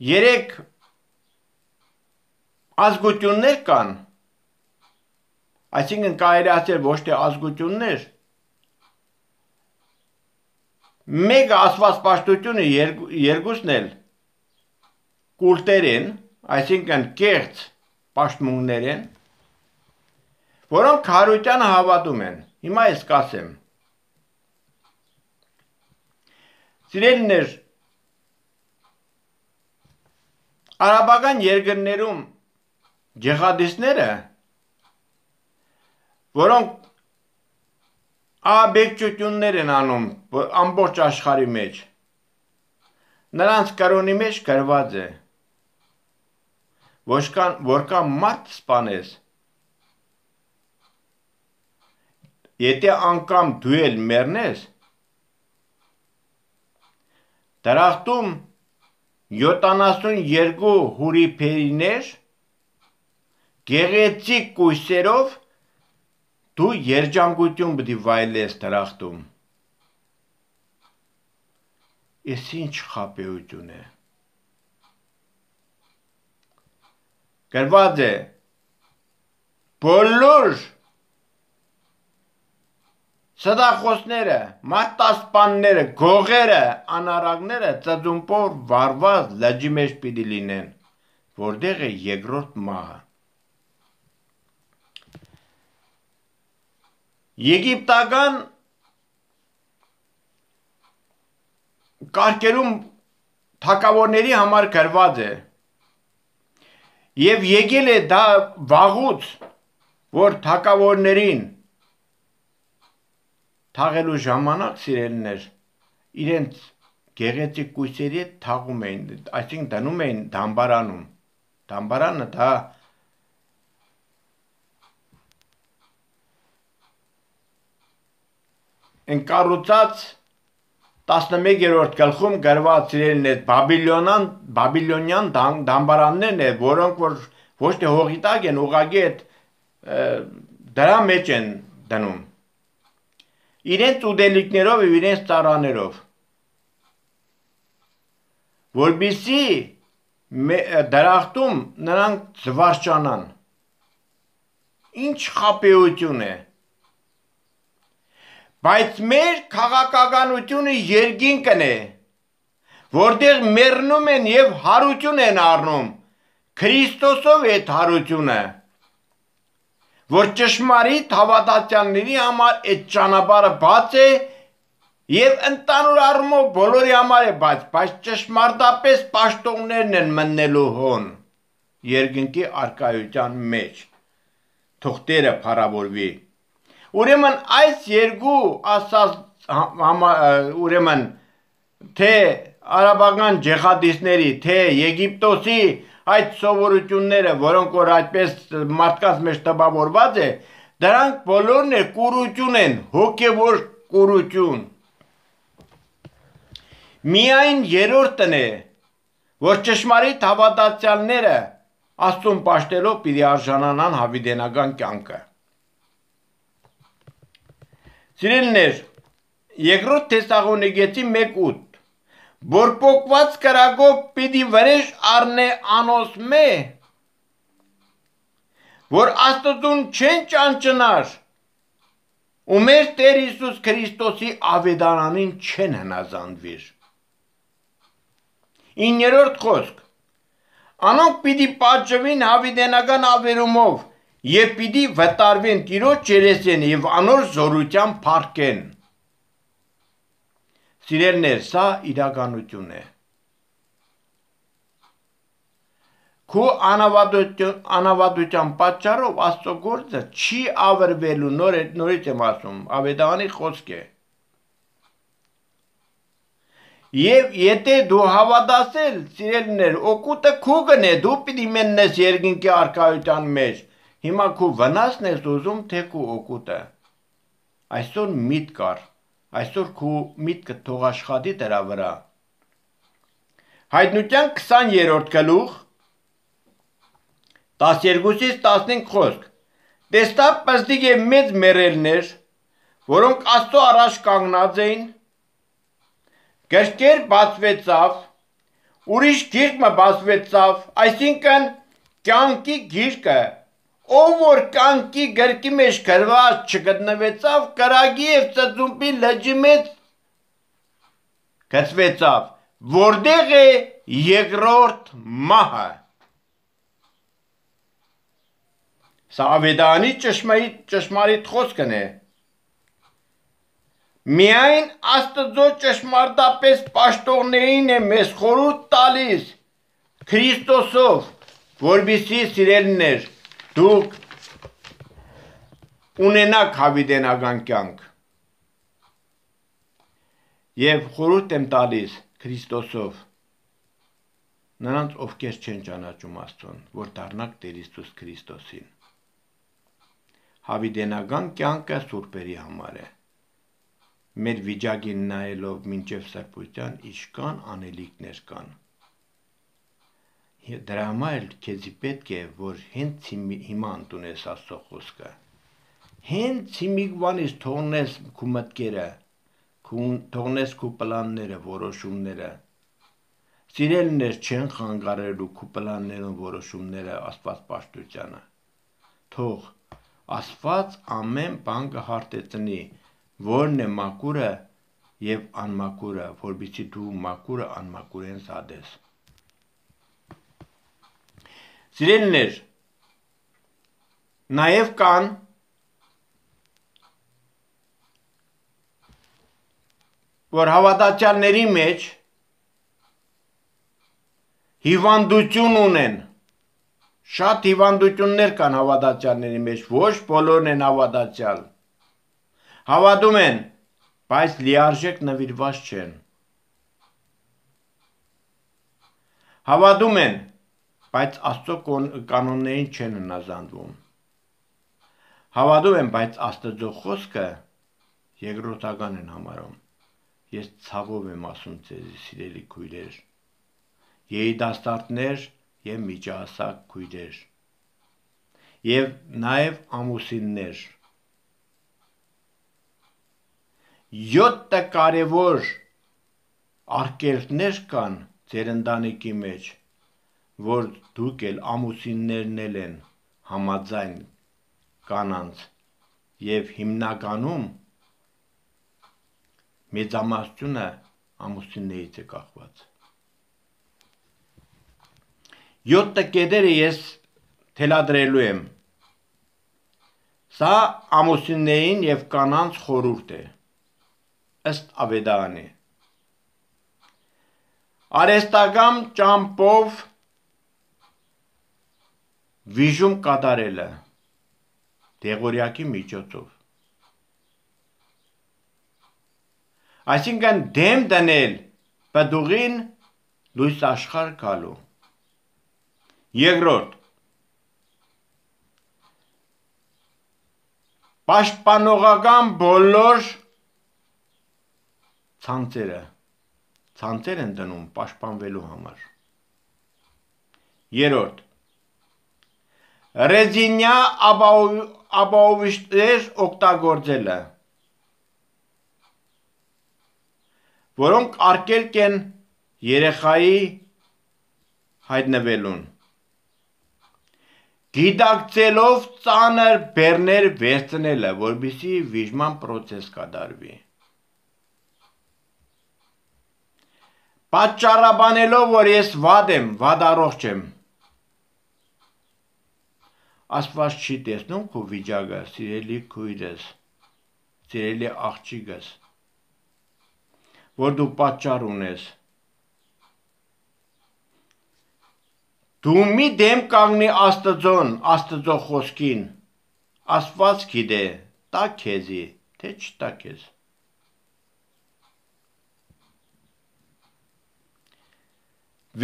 երեք ազգություններ կան, այսինքն կարելի ասել ոչ թե ազգություններ, մեկը աստվածպաշտությունը, երկուսն էլ կուլտեր են, այսինքն կեղծ պաշտմունքներ են, որոնք հարությանը հավատում են։ Հիմա ես կասեմ։ Սիրելիներ, արաբական երկրներում ջիհադիստները, որոնք ահաբեկչություններ են անում ամբողջ աշխարհի մեջ, նրանց կրոնի մեջ գրված է, որքան մարդ սպանես, եթե անգամ դու էլ մեռնես, դրախտում յոթանասուն երկու հուրիփերիներ գեղեցիկ կույսերով դու երջանկություն պիտի վայելես դրախտում։ Ես ինչ խաբեություն է։ Գրված է բոլոր սդախոսները, մատասպանները, գողերը, անարակները ծծումբով վառված լճի մեջ պիտի լինեն, որտեղ է երկրորդ մահը։ Եգիպտական կարգերում թագավորների համար գրված է եւ եկել է դա վաղուց, որ թագավորներին թաղելու ժամանակ, սիրելիներ, իրենց գեղեցիկ կույսերի հետ թաղում էին, այսինքն դնում էին դամբարանում։ Դամբարանը դա ընկառուցած տասնմեկերորդ գլխում գրված, սիրելիներ, բաբիլոնյան դամբարաններն են, որոնք որ ոչ թե հողի տակ են, ուղղակի այդ դրա մեջ են դնում, իրենց ուտելիքներով և իրենց ծառաներով, որպեսզի դրախտում նրանք զվարճանան։ Ինչ խաբեություն է։ Բայց մեր քաղաքականությունը երկինքն է, որտեղ մեռնում են եւ հարություն են առնում, Քրիստոսով այդ հարությունը, որ ճշմարիտ հավատացյալների համար այդ ճանապարհը բաց է եւ ընդանուր առումով բոլորի համար է բաց, բայց ճշմարտապես պաշտոններն են մտնելու հոն երկնքի արքայության մեջ։ Թող Տերը փառավորվի։ Ուրեմն այս երկու ասած ուրեմն թե արաբական ջեհադիստների, թե Եգիպտոսի այդ սովորությունները, որոնք որ այդպես մարդկանց մեջ տպավորված է, դրանք բոլորն է կուրություն են, հոգևոր կուրություն։ Միայն երրորդն է, որ ճշմարիտ հավատացյալները Աստծուն պաշտելով պիտի արժանանան հավիտենական կյանքը։ Սիրելիներ, երկրորդ Թեսաղոնիկեցի մեկ ութ, որ պոկված կրակով պիտի վրեժ առնե անոսմե, որ Աստծուն չեն ճանճնար, ու մեր Տեր Հիսուս Քրիստոսի ավետարանին չեն հնազանդվիր։ Իններորդ խոսք, անոնք պիտի պատժվին հավիտենական ավերումով եւ պիտի վտարվեն Տիրոջ երեսին եւ անոր զորության փառքեն։ Սիրելիներ, սա իրականություն է։ Քո անավատություն, անավատության պատճառով Աստծո գործը չի ավերվելու, նոր նորից եմ ասում, ավետարանի խոսք է։ Եվ եթե դու հավատացել, սիրելիներ, օգուտը քո գնե, դու պիտի մենես երկինքի արքայության մեջ։ Հիմա քո վնասն ես ուզում, թե քո օգուտը։ Այսօր միտք կար, այսօր քո միտքը թող աշխատի դրա վրա։ Հայտնության քսաներորդ գլուխ տասներկուից տասնհինգ խոսք։ Տեսա պստիկ եւ մեծ մեռելներ, որոնք Աստծո առաջ կանգնած էին, գրքեր բացվեցավ, ուրիշ գիրքը բացվեցավ, այսինքն կյանքի գիրքը, ով որ կյանքի գրքի մեջ գրված չգտնվեցավ, կրակի եւ ծծումբի լճի մեջ գցվեցավ, որտեղ է երկրորդ մահը։ Սա ավետարանի ճշմարիտ ճշմարիտ խոսքն է։ Միայն Աստծո ճշմարտապես պաշտոններին է մեզ խորհուրդ տալիս Քրիստոսով, որպեսզի սիրելիներ դուք ունենաք հավիտենական կյանք։ Եվ խորհուրդ եմ տալիս Քրիստոսով նրանց, ովքեր չեն ճանաչում Աստծուն, որ դառնաք Տեր Հիսուս Քրիստոսին։ Հավիտենական կյանքը սուրբերի համար է։ Մեր վիճակին նայելով մինչև սրբության ինչքան անելիքներ կան։ Դրա համար էլ քեզի պետք է, որ հենց հիմա ընդունես Աստծո խոսքը։ Հենց հիմիկվանից թողնես քո մտքերը, թողնես քո պլանները, որոշումները։ Սիրելիներ չեն խանգարելու քո պլաններն ու որոշումները Աստված պաշտությանը։ Թող Աստված ամեն բան կհարտեցնի, որն է մաքուրը եւ անմաքուրը, որպեսզի դու մաքուրը անմաքուրեն զատես։ Սիրելիներ, նաեւ կան որ հավատացյալների մեջ հիվանդություն ունեն, շատ հիվանդություններ կան հավատացյալների մեջ, ոչ բոլորն են հավատացյալ։ Հավատում են, բայց լիարժեք նվիրված չեն։ Հավատում են, բայց Աստծո կանոններին չեն հնազանդվում։ Հավատում են, բայց Աստծո խոսքը երկրորդական են համարում։ Ես ցավով եմ ասում ձեզ, սիրելի քույրեր, երիտասարդներ եւ միջահասակ քույրեր, եւ նաեւ ամուսիններ։ Յոթ կարևոր արգելքներ կան ձեր ընտանիքի մեջ, որ դուք էլ ամուսիններն էլ են համաձայն կանանց եւ հիմնականում մեծամասնությունը ամուսիններից է կախված։ Յոթ տկետերը ես թելադրելու եմ։ Սա ամուսիններին եւ կանանց խորհուրդ է, ըստ Ավետարանի։ Արհեստական ճամփով վիժում կատարելը դեղորյակի միջոցով։ Այսինքն դեմ դնել պտուղին լույս աշխարհ գալու։ Երկրորդ, պաշտպանողական բոլոր ցանցերը, ցանցեր են դնում պաշտպանվելու համար։ Երրորդ, ռեզինյա ապահովիչներ օգտագործելը, որոնք արգելք են երեխայի հայտնվելուն, գիտակցելով ծանր բեռներ վերցնելը, որպեսզի վիժման պրոցես կատարվի, պատճառաբանելով, որ ես վատ եմ, վատ առողջ եմ, Աստված չի տեսնում քո վիճակը, սիրելի քույրս, սիրելի աղջիկս, որ դու պատճառ ունես։ Դու մի դեմ կանգնի Աստծուն, Աստծո խոսքին, Աստված գիտե, տա քեզի, թե չտա քեզ։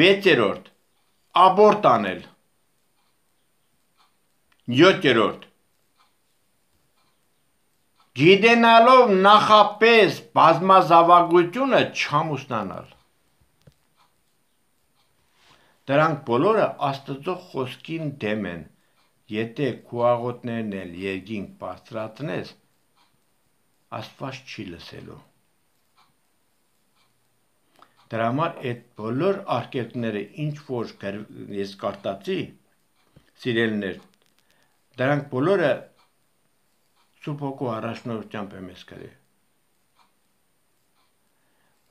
Վեցերորդ, աբորտ անել։ Յոթերորդ, գիտենալով նախապես բազմազավակությունը չամուսնանալ։ Դրանք բոլորը Աստծո խոսքին դեմ են, եթե քո աղոթներն էլ երկինք բարձրացնես, Աստված չի լսելու։ Դրա համար այդ բոլոր արգելքները, ինչ որ ես կարտացի, սիրելիներ, դրանք բոլորը Սուրբ Հոգու առաջնորդությամբ եմ ես գրել,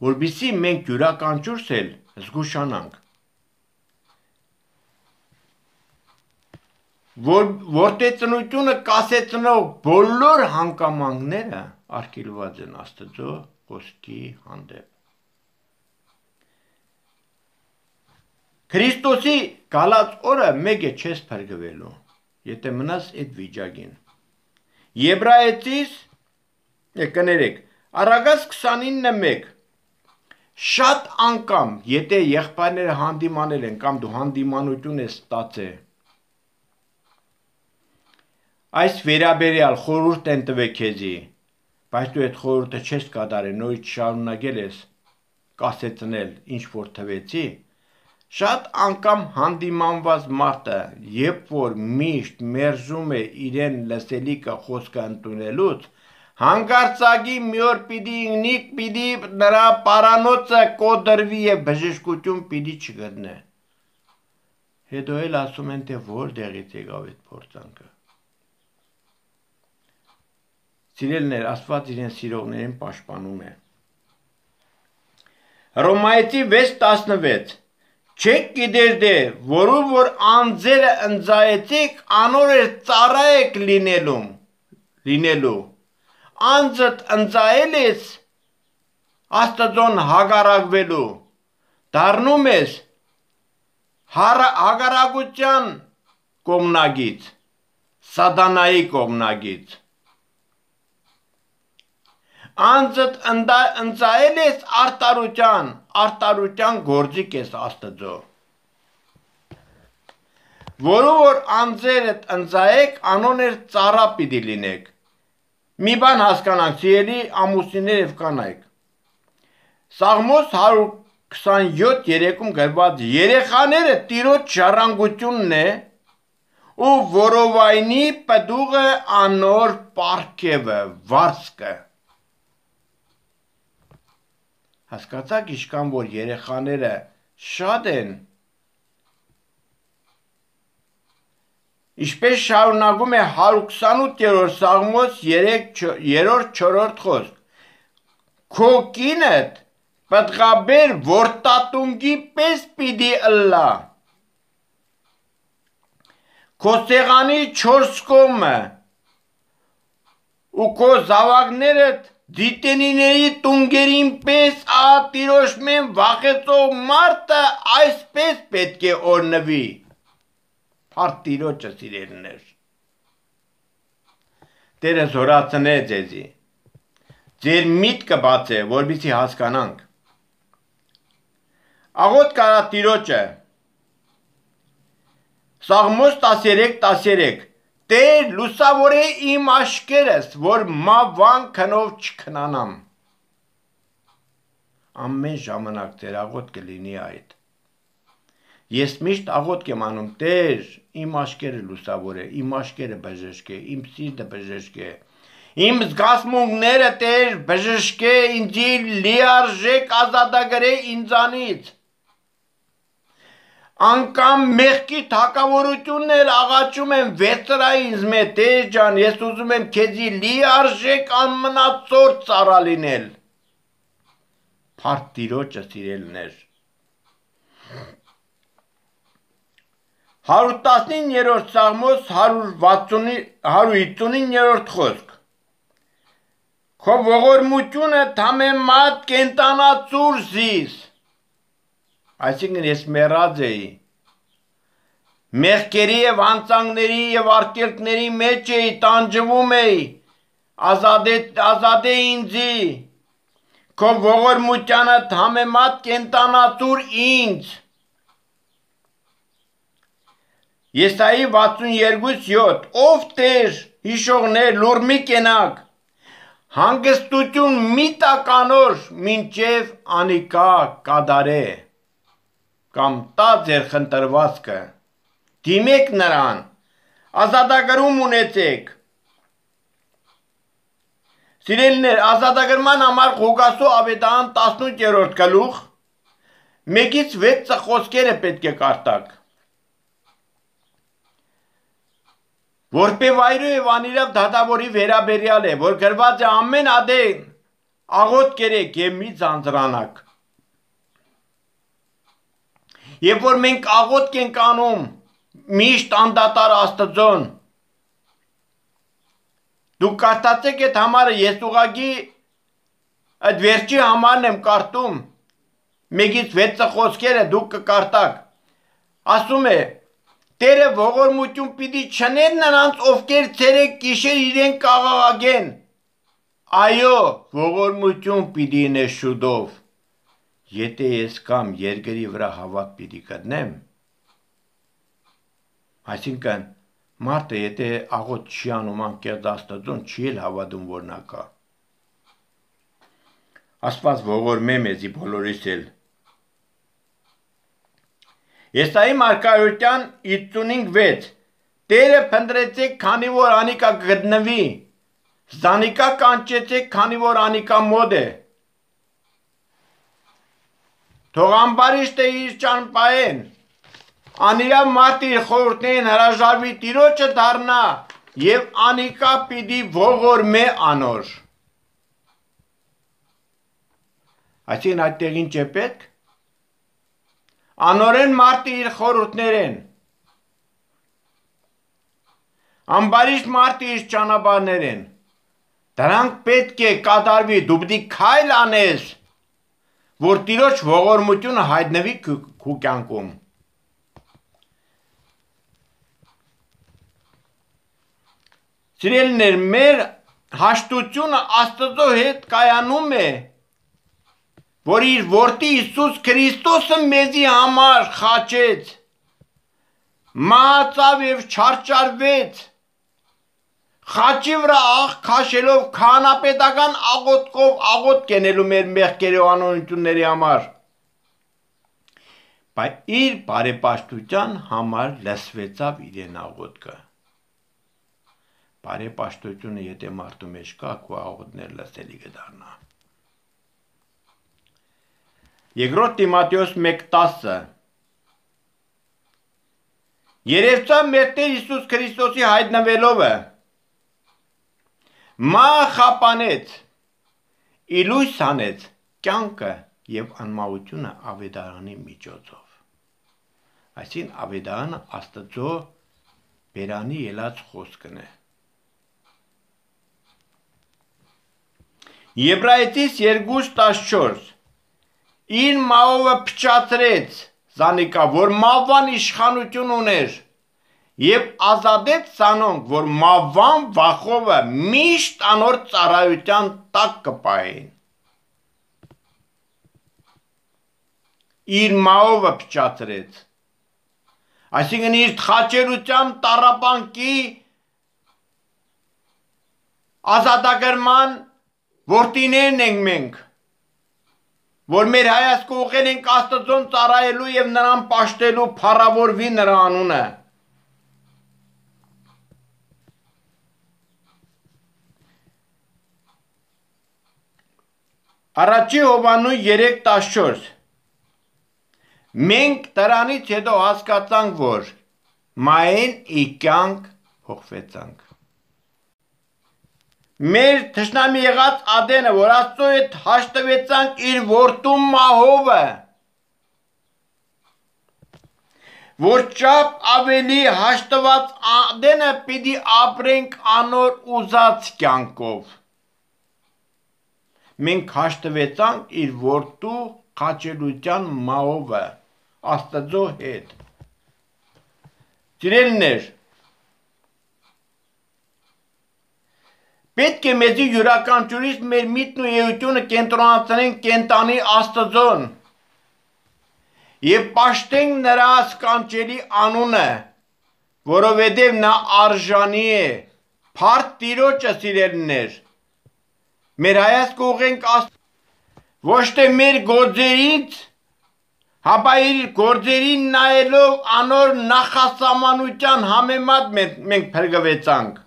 որպեսզի մենք յուրաքանչյուրս էլ զգուշանանք, որ որդեծնությունը կասեցնող բոլոր հանգամանքները արգելված են Աստծո խոսքի հանդեպ։ Քրիստոսի գալած օրը մեկ է չես փրկվելու, եթե մնաս այդ վիճակին։ Եբրայեցիս, կներեք, Առագազ քսանինը մեկ, շատ անգամ, եթե եղբայրները հանդիմանել են, կամ դու հանդիմանություն ես ստացել, այս վերաբերյալ խորհուրդ են տվել քեզի, բայց դու այդ խորհուրդը չես կատարել, նորից շարունակել ես կասեցնել, ինչ որ թվեցի, շատ անգամ հանդիմանված մարդը, երբ որ միշտ մերժում է իրեն լսելիքը խոսքը ընդունելուց, հանկարծակի մի օր պիտի ինքնիկ պիտի նրա պարանոցը կոտրվի եւ բժշկություն պիտի չգտնե։ Հետո էլ ասում են, թե որտեղից եկավ այդ փորձանքը։ Սիրելիներ, Աստված իրեն սիրողներին պաշտպանում է։ Հռոմայեցի վեց տասնվեց, չեք գիտեր դե, որու որ անձերը ընձայեցիք, անոր էր ծառայեք լինելու, լինելու, անձդ ընձայել ես Աստծոն հագարակվելու, դառնում ես հագարակության կողմնակից, սատանայի կողմնակից, անձդ ընձայել ես արտարության, արտարության գործիք ես Աստծո, որու որ անձերդ ընձայեք, անոներ ծառա պիտի լինեք։ Մի բան հասկանանք, սիրելի ամուսիններ եւ կանայք։ Սաղմոս հարյուր քսանյոթ երեքում գրված երեխաները Տիրոջ ժառանգությունն է, ու որովայնի պտուղը անոր պարգևը, վարձկը։ Հասկացաք, ինչքան որ երեխաները շատ են, Ինչպես շարունակում է հարյուր քսանութ-րդ Սաղմոս երրորդ չորրորդ խոսք. Քո կինդ պտղաբեր որդատունգի պես պիտի ըլլա, քո սեղանի չորս կողմը ու քո զավակներդ դիտենիների տունգերին պես ատիրոշ մեն վախեցող մարդը այսպես պետք է օրնվի։ Փառք Տիրոջը, սիրելիներ։ Տերը զորացնե ձեզի։ Ձեր միտքը բացե, որպեսզի հասկանանք։ Աղոթք արա Տիրոջը։ Սաղմոս տասներեք տասներեք Տեր լուսավորե իմ աշկերս, որ մավան քնով չքնանամ։ Ամեն ժամանակ Տեր աղոթքը լինի այդ։ Ես միշտ աղոթք եմ անում, Տեր, իմ աշկերը լուսավորե, իմ աշկերը բժշկե, իմ սիրտը բժշկե, իմ զգացմունքները Տեր բժշկե, ինձի լիարժեք ազատագրե ինձանից։ Անկամ մեղքի թակավորություններ աղաչում են վեցրա ինձ մե, Տեր ջան, ես ուզում եմ քեզի լիարժեք անմնացորդ ծառա լինել։ Փառք Տիրոջը, սիրելիներ։ հարյուր տասնիններորդ Սաղմոս հարյուր հիսունիններորդ խոսք Քո ողորմությունը թամեմատ կենտանացուր զիս։ Այսինքն ես մեռած էի, մեղքերի և հանցանքների և արգելքների մեջ էի, տանջվում էի, ազատե ինձի, քո ողորմությանը համեմատ կենտանացուր ինձ։ Եսայի վաթսունյոթ յոթ Ով Տեր, հիշողներ, լուր մի կենաք, հանգստություն մի տականոր, մինչև անիկա կադարե, կամ տա ձեր խնդրվածքը, դիմեք նրան, ազատագրում ունեցեք։ Սիրելիներ, ազատագրման համար Ղուկասու ավետարան տասնութ-րդ գլուխ մեկից վեցը խոսքերը պետք է կարդաք։ Որպե վայրու և անիրավ դատավորի վերաբերյալ է, որ գրված է ամեն ադեն աղոթք կերեք և մի ձանձրանաք։ Երբ որ մենք աղոթք ենք անում միշտ անդադար Աստծուն, դուք կարդացեք այդ համարը, ես ուղղակի այդ վերջի համարն եմ կարդում, մեկից վեցը խոսքերը դուք կկարդաք, ասում է, Տերը ողորմություն պիտի չներ նրանց, ովքեր ցերեկ գիշեր իրեն կաղաղագեն, այո, ողորմություն պիտի նե շուտով, եթե ես կամ երկրի վրա հավատ պիտի գտնեմ։ Այսինքն, մարդը եթե աղոթք չի անում անկեղծ Աստծուն, չի էլ հավատում, որ նա կա։ Աստված ողորմե մեզի բոլորիս էլ։ Եսայի մարգարոյության հիսունհինգ վեց Տերը փնտրեցեք, քանի որ անիկա գտնվի, զանիկա կանչեցեք, քանի որ անիկա մոտ է։ Թող ամբարիշտը իր ճանապարհեն, անիրավ մարդը իր խորհուրդներին հրաժարվի, Տիրոջը դառնա և անիկա պիտի ողորմե անոր։ Այսինքն այդտեղ ինչ է պետք։ Անորեն մարդը իր խորհուրդներեն, ամբարիշտ մարդը իր ճանապարհներեն, դրանք պետք է կատարվի, դու պիտի քայլ անես, որ Տիրոջ ողորմությունը հայտնվի քո կյանքում։ Սիրելիներ, մեր հաշտությունը Աստծո հետ կայանում է, որ իր որդի Հիսուս Քրիստոսը մեզի համար խաչեց, մահացավ և չարչարվեց, խաչի վրա աղ քաշելով քահանապետական աղոթքով աղոթք կենելու մեր մեղքերի ու անօրենությունների համար, բայց իր բարեպաշտության համար լսվեցավ իրեն աղոթքը։ Բարեպաշտությունը եթե մարդու մեջ կա, քո աղոթքները լսելի կդառնա։ Երկրորդ Տիմոթեոս մեկ տասը Երևցան մեր Տեր Հիսուս Քրիստոսի հայտնվելովը մա խապանեց, իլույս հանեց կյանքը և անմահությունը ավետարանի միջոցով։ Այսին ավետարանը Աստծո բերանի ելած խոսքն է։ Եբրայեցիս երկու տասնչորս իր մահովը փչացրեց զանիկա, որ մահվան իշխանություն ուներ և ազատեց զանոնք, որ մահվան վախովը միշտ անոր ծառայության տակ կպահեին։ Իր մահովը փչացրեց, այսինքն իր խաչելությամբ տառապանքի ազատագրման որդիներն ենք մենք, որ մեր հայացքը ուղղել ենք Աստծուն ծառայելու և նրան պաշտելու, փառավորվի նրա անունը։ Առաջի Հովհաննու երեք տասնչորս մենք դրանից հետո հասկացանք, որ մահեն ի կյանք հոխվեցանք։ Մեր թշնամի եղած Ադենը, որ Աստծո հետ հաշտվեցանք իր որդու մահովը, որ չափ ավելի հաշտված Ադենը պիտի ապրենք անոր ուզած կյանքով։ Մենք հաշտվեցանք իր որդու խաչելության մահովը Աստծո հետ։ Սիրելիներ, պետք է մեզի յուրաքանչյուրից մեր միտքն ու էությունը կենտրոնացնենք կենտանի Աստծուն և պաշտենք նրա սքանչելի անունը, որովհետև նա արժանի է, փառք Տիրոջը, սիրելիներ։ Մեր հայացքը ուղղենք Աստծուն, ոչ թե մեր գործերից, հապա իր գործերին նայելով անոր նախասահմանության համեմատ մենք փրկվեցանք։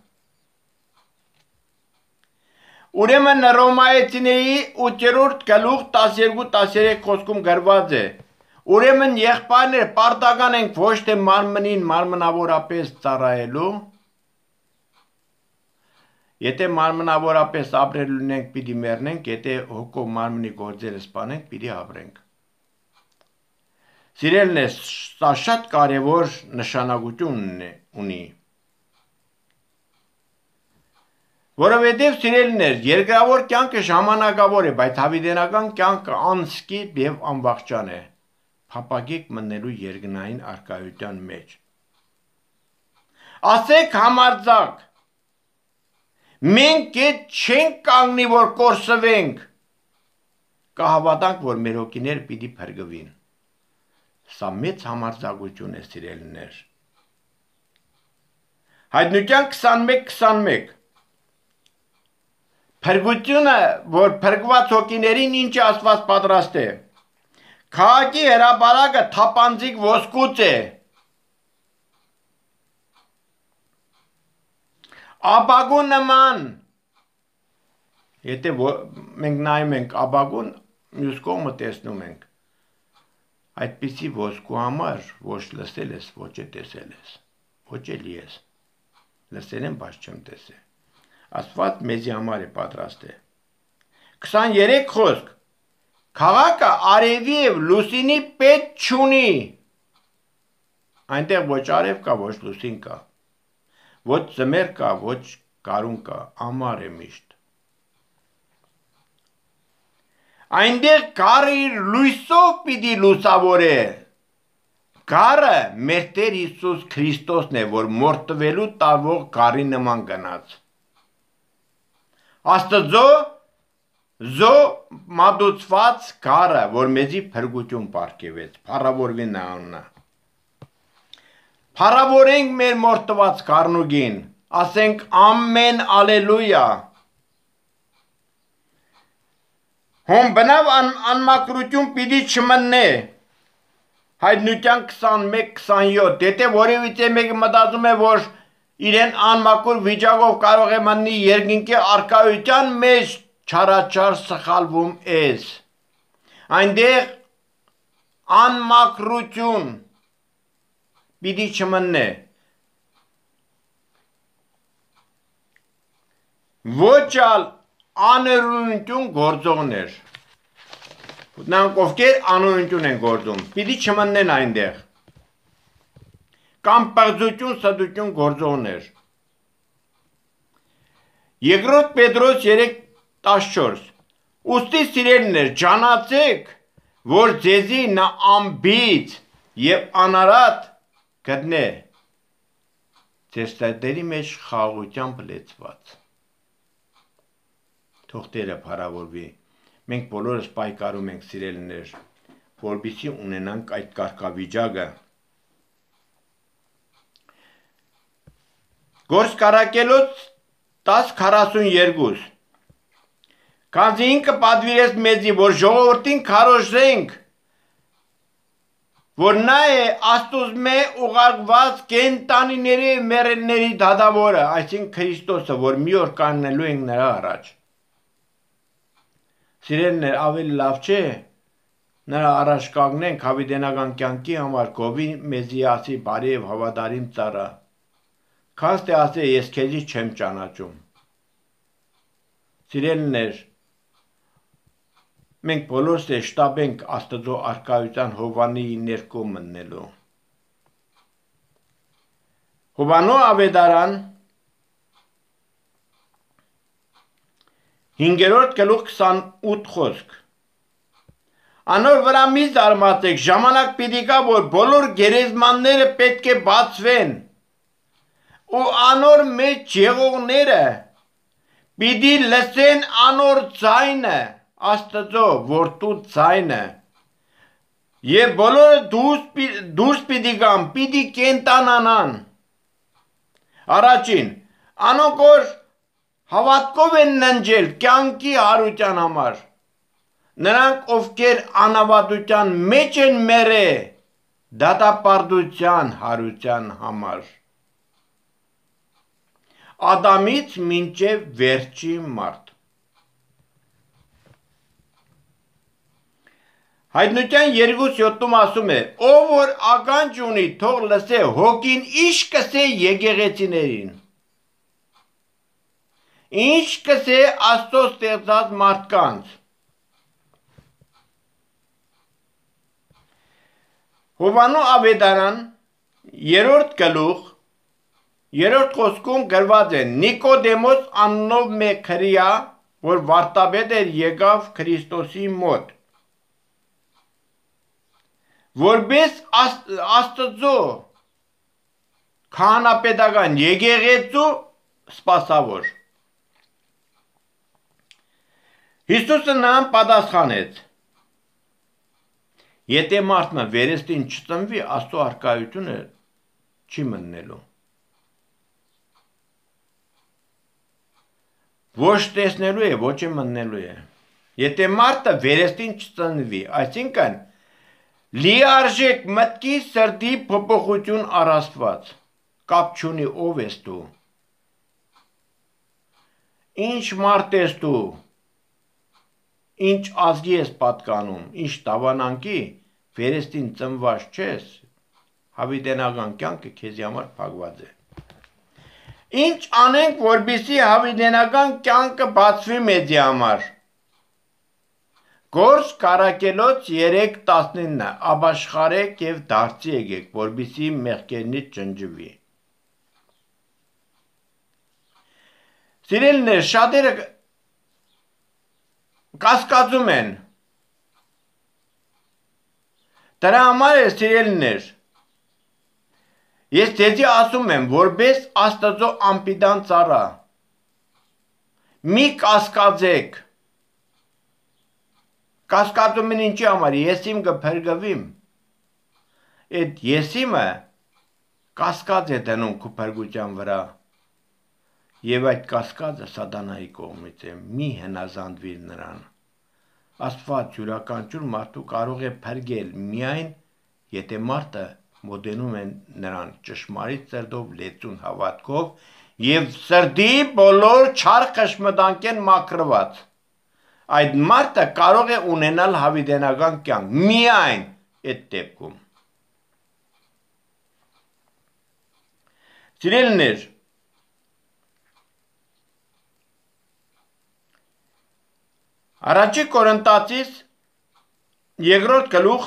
Ուրեմն Հռոմայեցիների ութերորդ գլուխ տասներկու տասներեք խոսքում գրված է. Ուրեմն եղբայրներ պարտական ենք ոչ թե մարմնին մարմնավորապես ծառայելու, եթե մարմնավորապես ապրելու ունենք պիտի մեռնենք, եթե հոգով մարմնի գործերը սպանենք, պիտի ապրենք։ Սիրելիներ, սա շատ կարևոր նշանակություն ունի։ Որովհետև սիրելիներ, երկրավոր կյանքը ժամանակավոր է, բայց հավիտենական կյանքը անսկիպ և անվախճան է, փափագեք մտնելու երկնային առկայության մեջ։ Ասեք համարձակ, մենք էդ չենք կանգնի, որ կորսվենք, կհավատանք, որ մեր հոգիները պիտի փրկվին։ Սա մեծ համարձակություն է, սիրելիներ։ Հայտնության քսանմեկ քսանմեկ Փրկությունը, որ փրկված հոգիներին ինչ Աստված պատրաստ է։ Քաղաքի հրապարակը թափանցիկ ոսկուց է։ Ապագու նման, եթե մենք նայում ենք ապագուն, մյուս կողմը տեսնում ենք, այդպիսի ոսկու համար ոչ լսել ես, ոչ է տեսել ես, ոչ էլի ես, լսել եմ, բայց չեմ տեսել։ Աստված մեզի համար է պատրաստ է։ քսաներեք խոսք, քաղաքը արևի և լուսինի պետք չունի, այնտեղ ոչ արև կա, ոչ լուսին կա, ոչ ձմեռ կա, ոչ գարուն կա, ամառ է միշտ։ Այնտեղ գառը իր լույսով պիտի լուսավորե։ Գառը մեր Տեր Հիսուս Քրիստոսն է, որ մորթվելու տարվող գառի նման գնաց։ Աստծո զո մատուցված գառը, որ մեզի փրկություն պարգևեց, փառավորվի նա անունը։ Փառավորենք մեր մորթված գառնուկին, ասենք ամեն ալելույա։ Հոն բնավ անմաքրություն պիտի չմնե։ Հայտնության քսանմեկ քսանյոթ, եթե որևիցե մեկը մտածում է, որ իրեն անմաքուր վիճակով կարող է մտնի երկինքի առկայության մեջ, չարաչար սխալվում ես։ Այնտեղ անմաքրություն պիտի չմննե ոչ ալ աներունություն գործողներ նրանք ովքեր անօրենություն են գործում, պիտի չմննեն այնտեղ, կամ պղծություն, սդություն գործողներ։ Երկրորդ Պետրոս երեք տասնչորս Ուստի սիրելիներ, ջանացեք, որ ձեզի նա անբիծ և անարատ գտնե, ձեզ սրտերի մեջ խաղաղությամբ լեցված։ Թող Տերը փառավորվի։ Մենք բոլորս պայքարում ենք սիրելիներ, որպեսզի ունենանք այդ կարգավիճակը։ Գործկարակելոց տասը քառասունյոթ Քանզի ինքը պատվիրեց մեզի, որ ժողովրդին քարոզենք, որ նա է Աստուծմե ուղարկված կենդանիների մեռելների դատավորը, այսինքն Քրիստոսը, որ մի օր կանգնելու ենք նրա առաջ։ Սիրելիներ, ավելի լավ չէ, նրա առաջ կանգնենք հավիտենական կյանքի համար, գովի մեզի ասի բարի և հավատարիմ ծառա, քանզ թե ասե ես քեզի չեմ ճանաչում։ Սիրելիներ, մենք բոլորս է շտապենք Աստծո առկայության Հովվանի ներքո մտնելու։ Հովվաննու ավետարան հինգերորդ գլուխ քսանութ խոսք Անոր վրա մի զարմացեք, ժամանակ պիտի գա, որ բոլոր գերեզմանները պետք է բացվեն, ու անոր մեջ եղողները պիտի լսեն անոր ձայնը, Աստծո որդու ձայնը, և բոլորը դուրս պիտի գան, պիտի կենդանանան։ Առաջին, անոնք որ հավատքով են ննջել կյանքի հարության համար, նրանք ովքեր անավատության մեջ են մեռել դատապարտության հարության համար։ Ադամից մինչև վերջի մարդ։ Հայտնության երկու յոթում ասում է, ով որ ականջ ունի, թող լսե, հոգին ինչ կսե եկեղեցիներին, ինչ կսե Աստծո ստեղծած մարդկանց։ Հովվաննու ավետարան երրորդ գլուխ երրորդ խոսքում գրված է. Նիկոդեմոս անունով մեկ հրեա, որ վարդապետ էր, եկավ Քրիստոսի մոտ, որպես Աստծո քահանապետական եկեղեցու սպասավոր։ Հիսուսը նրան պատասխանեց. Եթե մարդը վերստին չծնվի, Աստծո առկայությունը չի մտնելու։ Ոչ տեսնելու է, ոչ է մտնելու է։ Եթե մարդը վերստին չծնվի, այսինքն լիարժեք մտքի սրտի փոփոխություն առաստված, կապ չունի ով ես դու, ինչ մարդ ես դու, ինչ ազգի ես պատկանում, ինչ տավանանքի, վերստին ծնված չես, հավիտենական կյանքը քեզի համար փակված է։ Ինչ անենք, որպեսզի հավիտենական կյանքը բացվի մեզի համար։ Գործ Կարակելոց երեք տասնինը ապաշխարեք և դարձի եկեք, որպեսզի մեղքերնից ջնջվի։ Սիրելիներ, շատերը կասկածում են։ Դրա համար է, սիրելիներ, ես ձեզի ասում եմ, որպես Աստծո անպիտան ծառա, մի կասկածեք։ Կասկածում են ինչի համար, եսիմ կփրկվիմ։ Այդ եսիմը կասկած է դնում քո փրկության վրա։ Եվ այդ կասկածը սատանայի կողմից է, մի հնազանդվիր նրան։ Աստված յուրաքանչյուր մարդու կարող է փրկել միայն, եթե մարդը մոտենում է նրան ճշմարիտ սրտով, լեցուն հավատքով և սրտի բոլոր չար խշմտանքեն մաքրված։ Այդ մարդը կարող է ունենալ հավիտենական կյանք, միայն այդ դեպքում։ Սիրելիներ, Առաջի Կորինթացիս երկրորդ գլուխ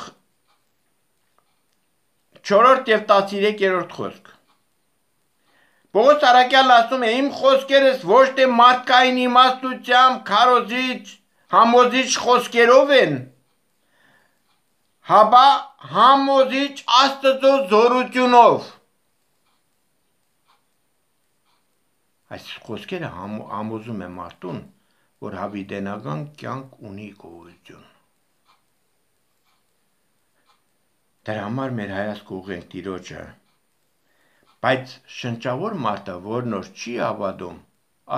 չորրորդ եւ տասներկերորդ խոսք։ Պողոս առաքյալն ասում է. իմ խոսքերս ոչ թե մարդկային իմաստությամբ, քարոզիչ, համոզիչ խոսքերով են, հապա համոզիչ Աստծո զորությունով։ Այս խոսքերը համ, համոզում է մարդուն, որ հավիտենական կյանք ունի գոհություն։ Դրա համար մեր հայացքը ուղղենք Տիրոջը, բայց շնչավոր մարդը, որն որ չի հավատում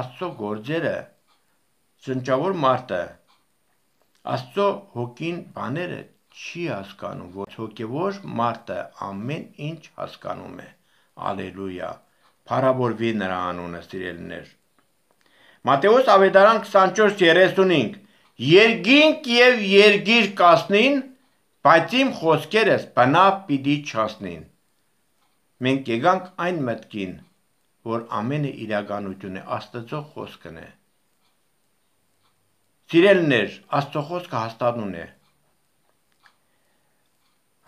Աստծո գործերը, շնչավոր մարդը Աստծո հոգին բաները չի հասկանում, որ հոգևոր մարդը ամեն ինչ հասկանում է։ Ալելույա, փառավորվի նրա անունը, սիրելիներ։ Մատթեոս ավետարան քսանչորս երեսունհինգ Երկինք եւ երգիր կասնին, բայց իմ խոսքերս բնավ պիտի չասնին։ Մենք եկանք այն մտքին, որ ամենը իրականություն է, Աստծո խոսքն է։ Սիրելիներ, Աստծո խոսքը հաստատուն է։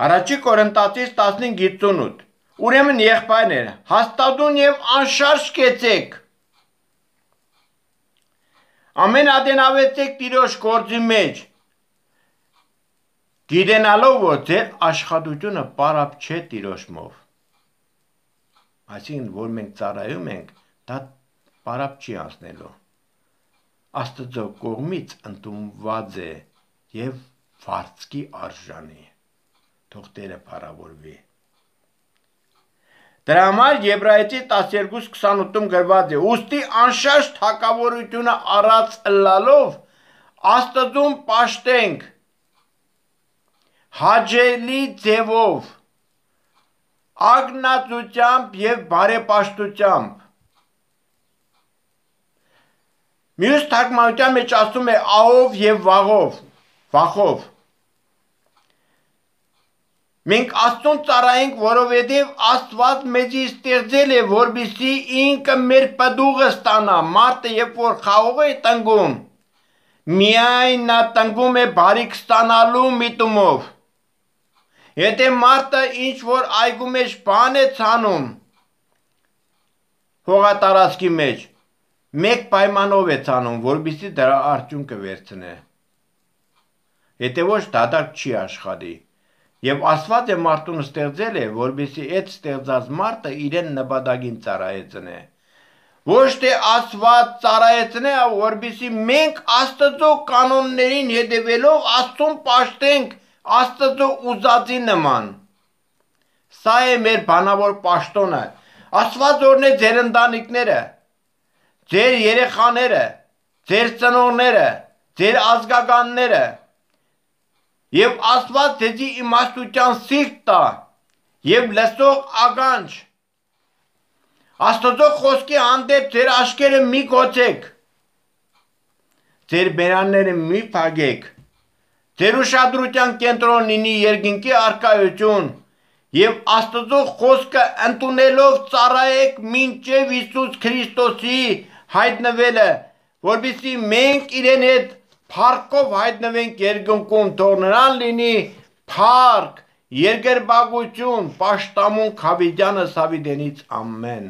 Առաջի Կորինթացիս տասնհինգ հինգ Ուրեմն եղբայրներ, հաստատուն եւ անշարժ կեցեք։ Ամեն ատենավեցեք Տիրոջ գործի մեջ, գիտենալով, որ ձեր աշխատությունը պարապ չէ Տիրոջմով։ Այսինքն, որ մենք ծառայում ենք, դա պարապ չի անցնելու։ Աստծո կողմից ընդունված է եւ վարձքի արժանի։ Թող Տերը փառավորվի։ Դրա համար Եբրայեցի տասներկու քսանութում գրված է. ուստի անշարժ թակավորությունը առած ըլլալով Աստծուն պաշտենք հաճելի ձևով, ագնացությամբ եւ բարեպաշտությամբ։ Մյուս թարգմանության մեջ ասում է ահով եւ վաղով, վախով։ Մենք Աստծուն ծառայենք, որովհետև Աստված մեզի ստեղծել է, որպեսզի ինքը մեր պտուղը ստանա։ Մարդը երբ որ խաղող է տնկում, միայն նա տնկում է բարիք ստանալու միտումով։ Եթե մարդը ինչ որ այգու մեջ բան է ցանում, հողատարածքի մեջ, մեկ պայմանով է ցանում, որպեսզի դրա արդյունքը վերցնե։ Եթե ոչ, դատարկ չի աշխատի։ Եվ Աստված է մարդուն ստեղծել է, որպեսզի այդ ստեղծած մարդը իրեն նպատակին ծառայեցնե։ Ոչ թե Աստված ծառայեցնե, որպեսզի մենք Աստծո կանոններին հետևելով Աստծուն պաշտենք Աստծո ուզածի նման։ Սա է մեր բանավոր պաշտոնը։ Աստված օրհնե ձեր ընտանիքները, ձեր երեխաները, ձեր ծնողները, ձեր ազգականները։ Եվ Աստված ձեզի իմաստության սիրտ տա եւ լսող ականջ։ Աստծո խոսքի հանդեպ ձեր աչքերը մի գոցեք, ձեր բերանները մի փակեք, ձեր ուշադրության կենտրոն լինի երկինքի առկայություն եւ Աստծո խոսքը ընդունելով ծառայեք մինչեւ Հիսուս Քրիստոսի հայտնվելը, որպեսզի մենք իրեն հետ փառքով հայտնվենք երկնքում, թող նրան լինի փառք, երկրպագություն, պաշտամունք հավիտյանս հավիտենից ամեն։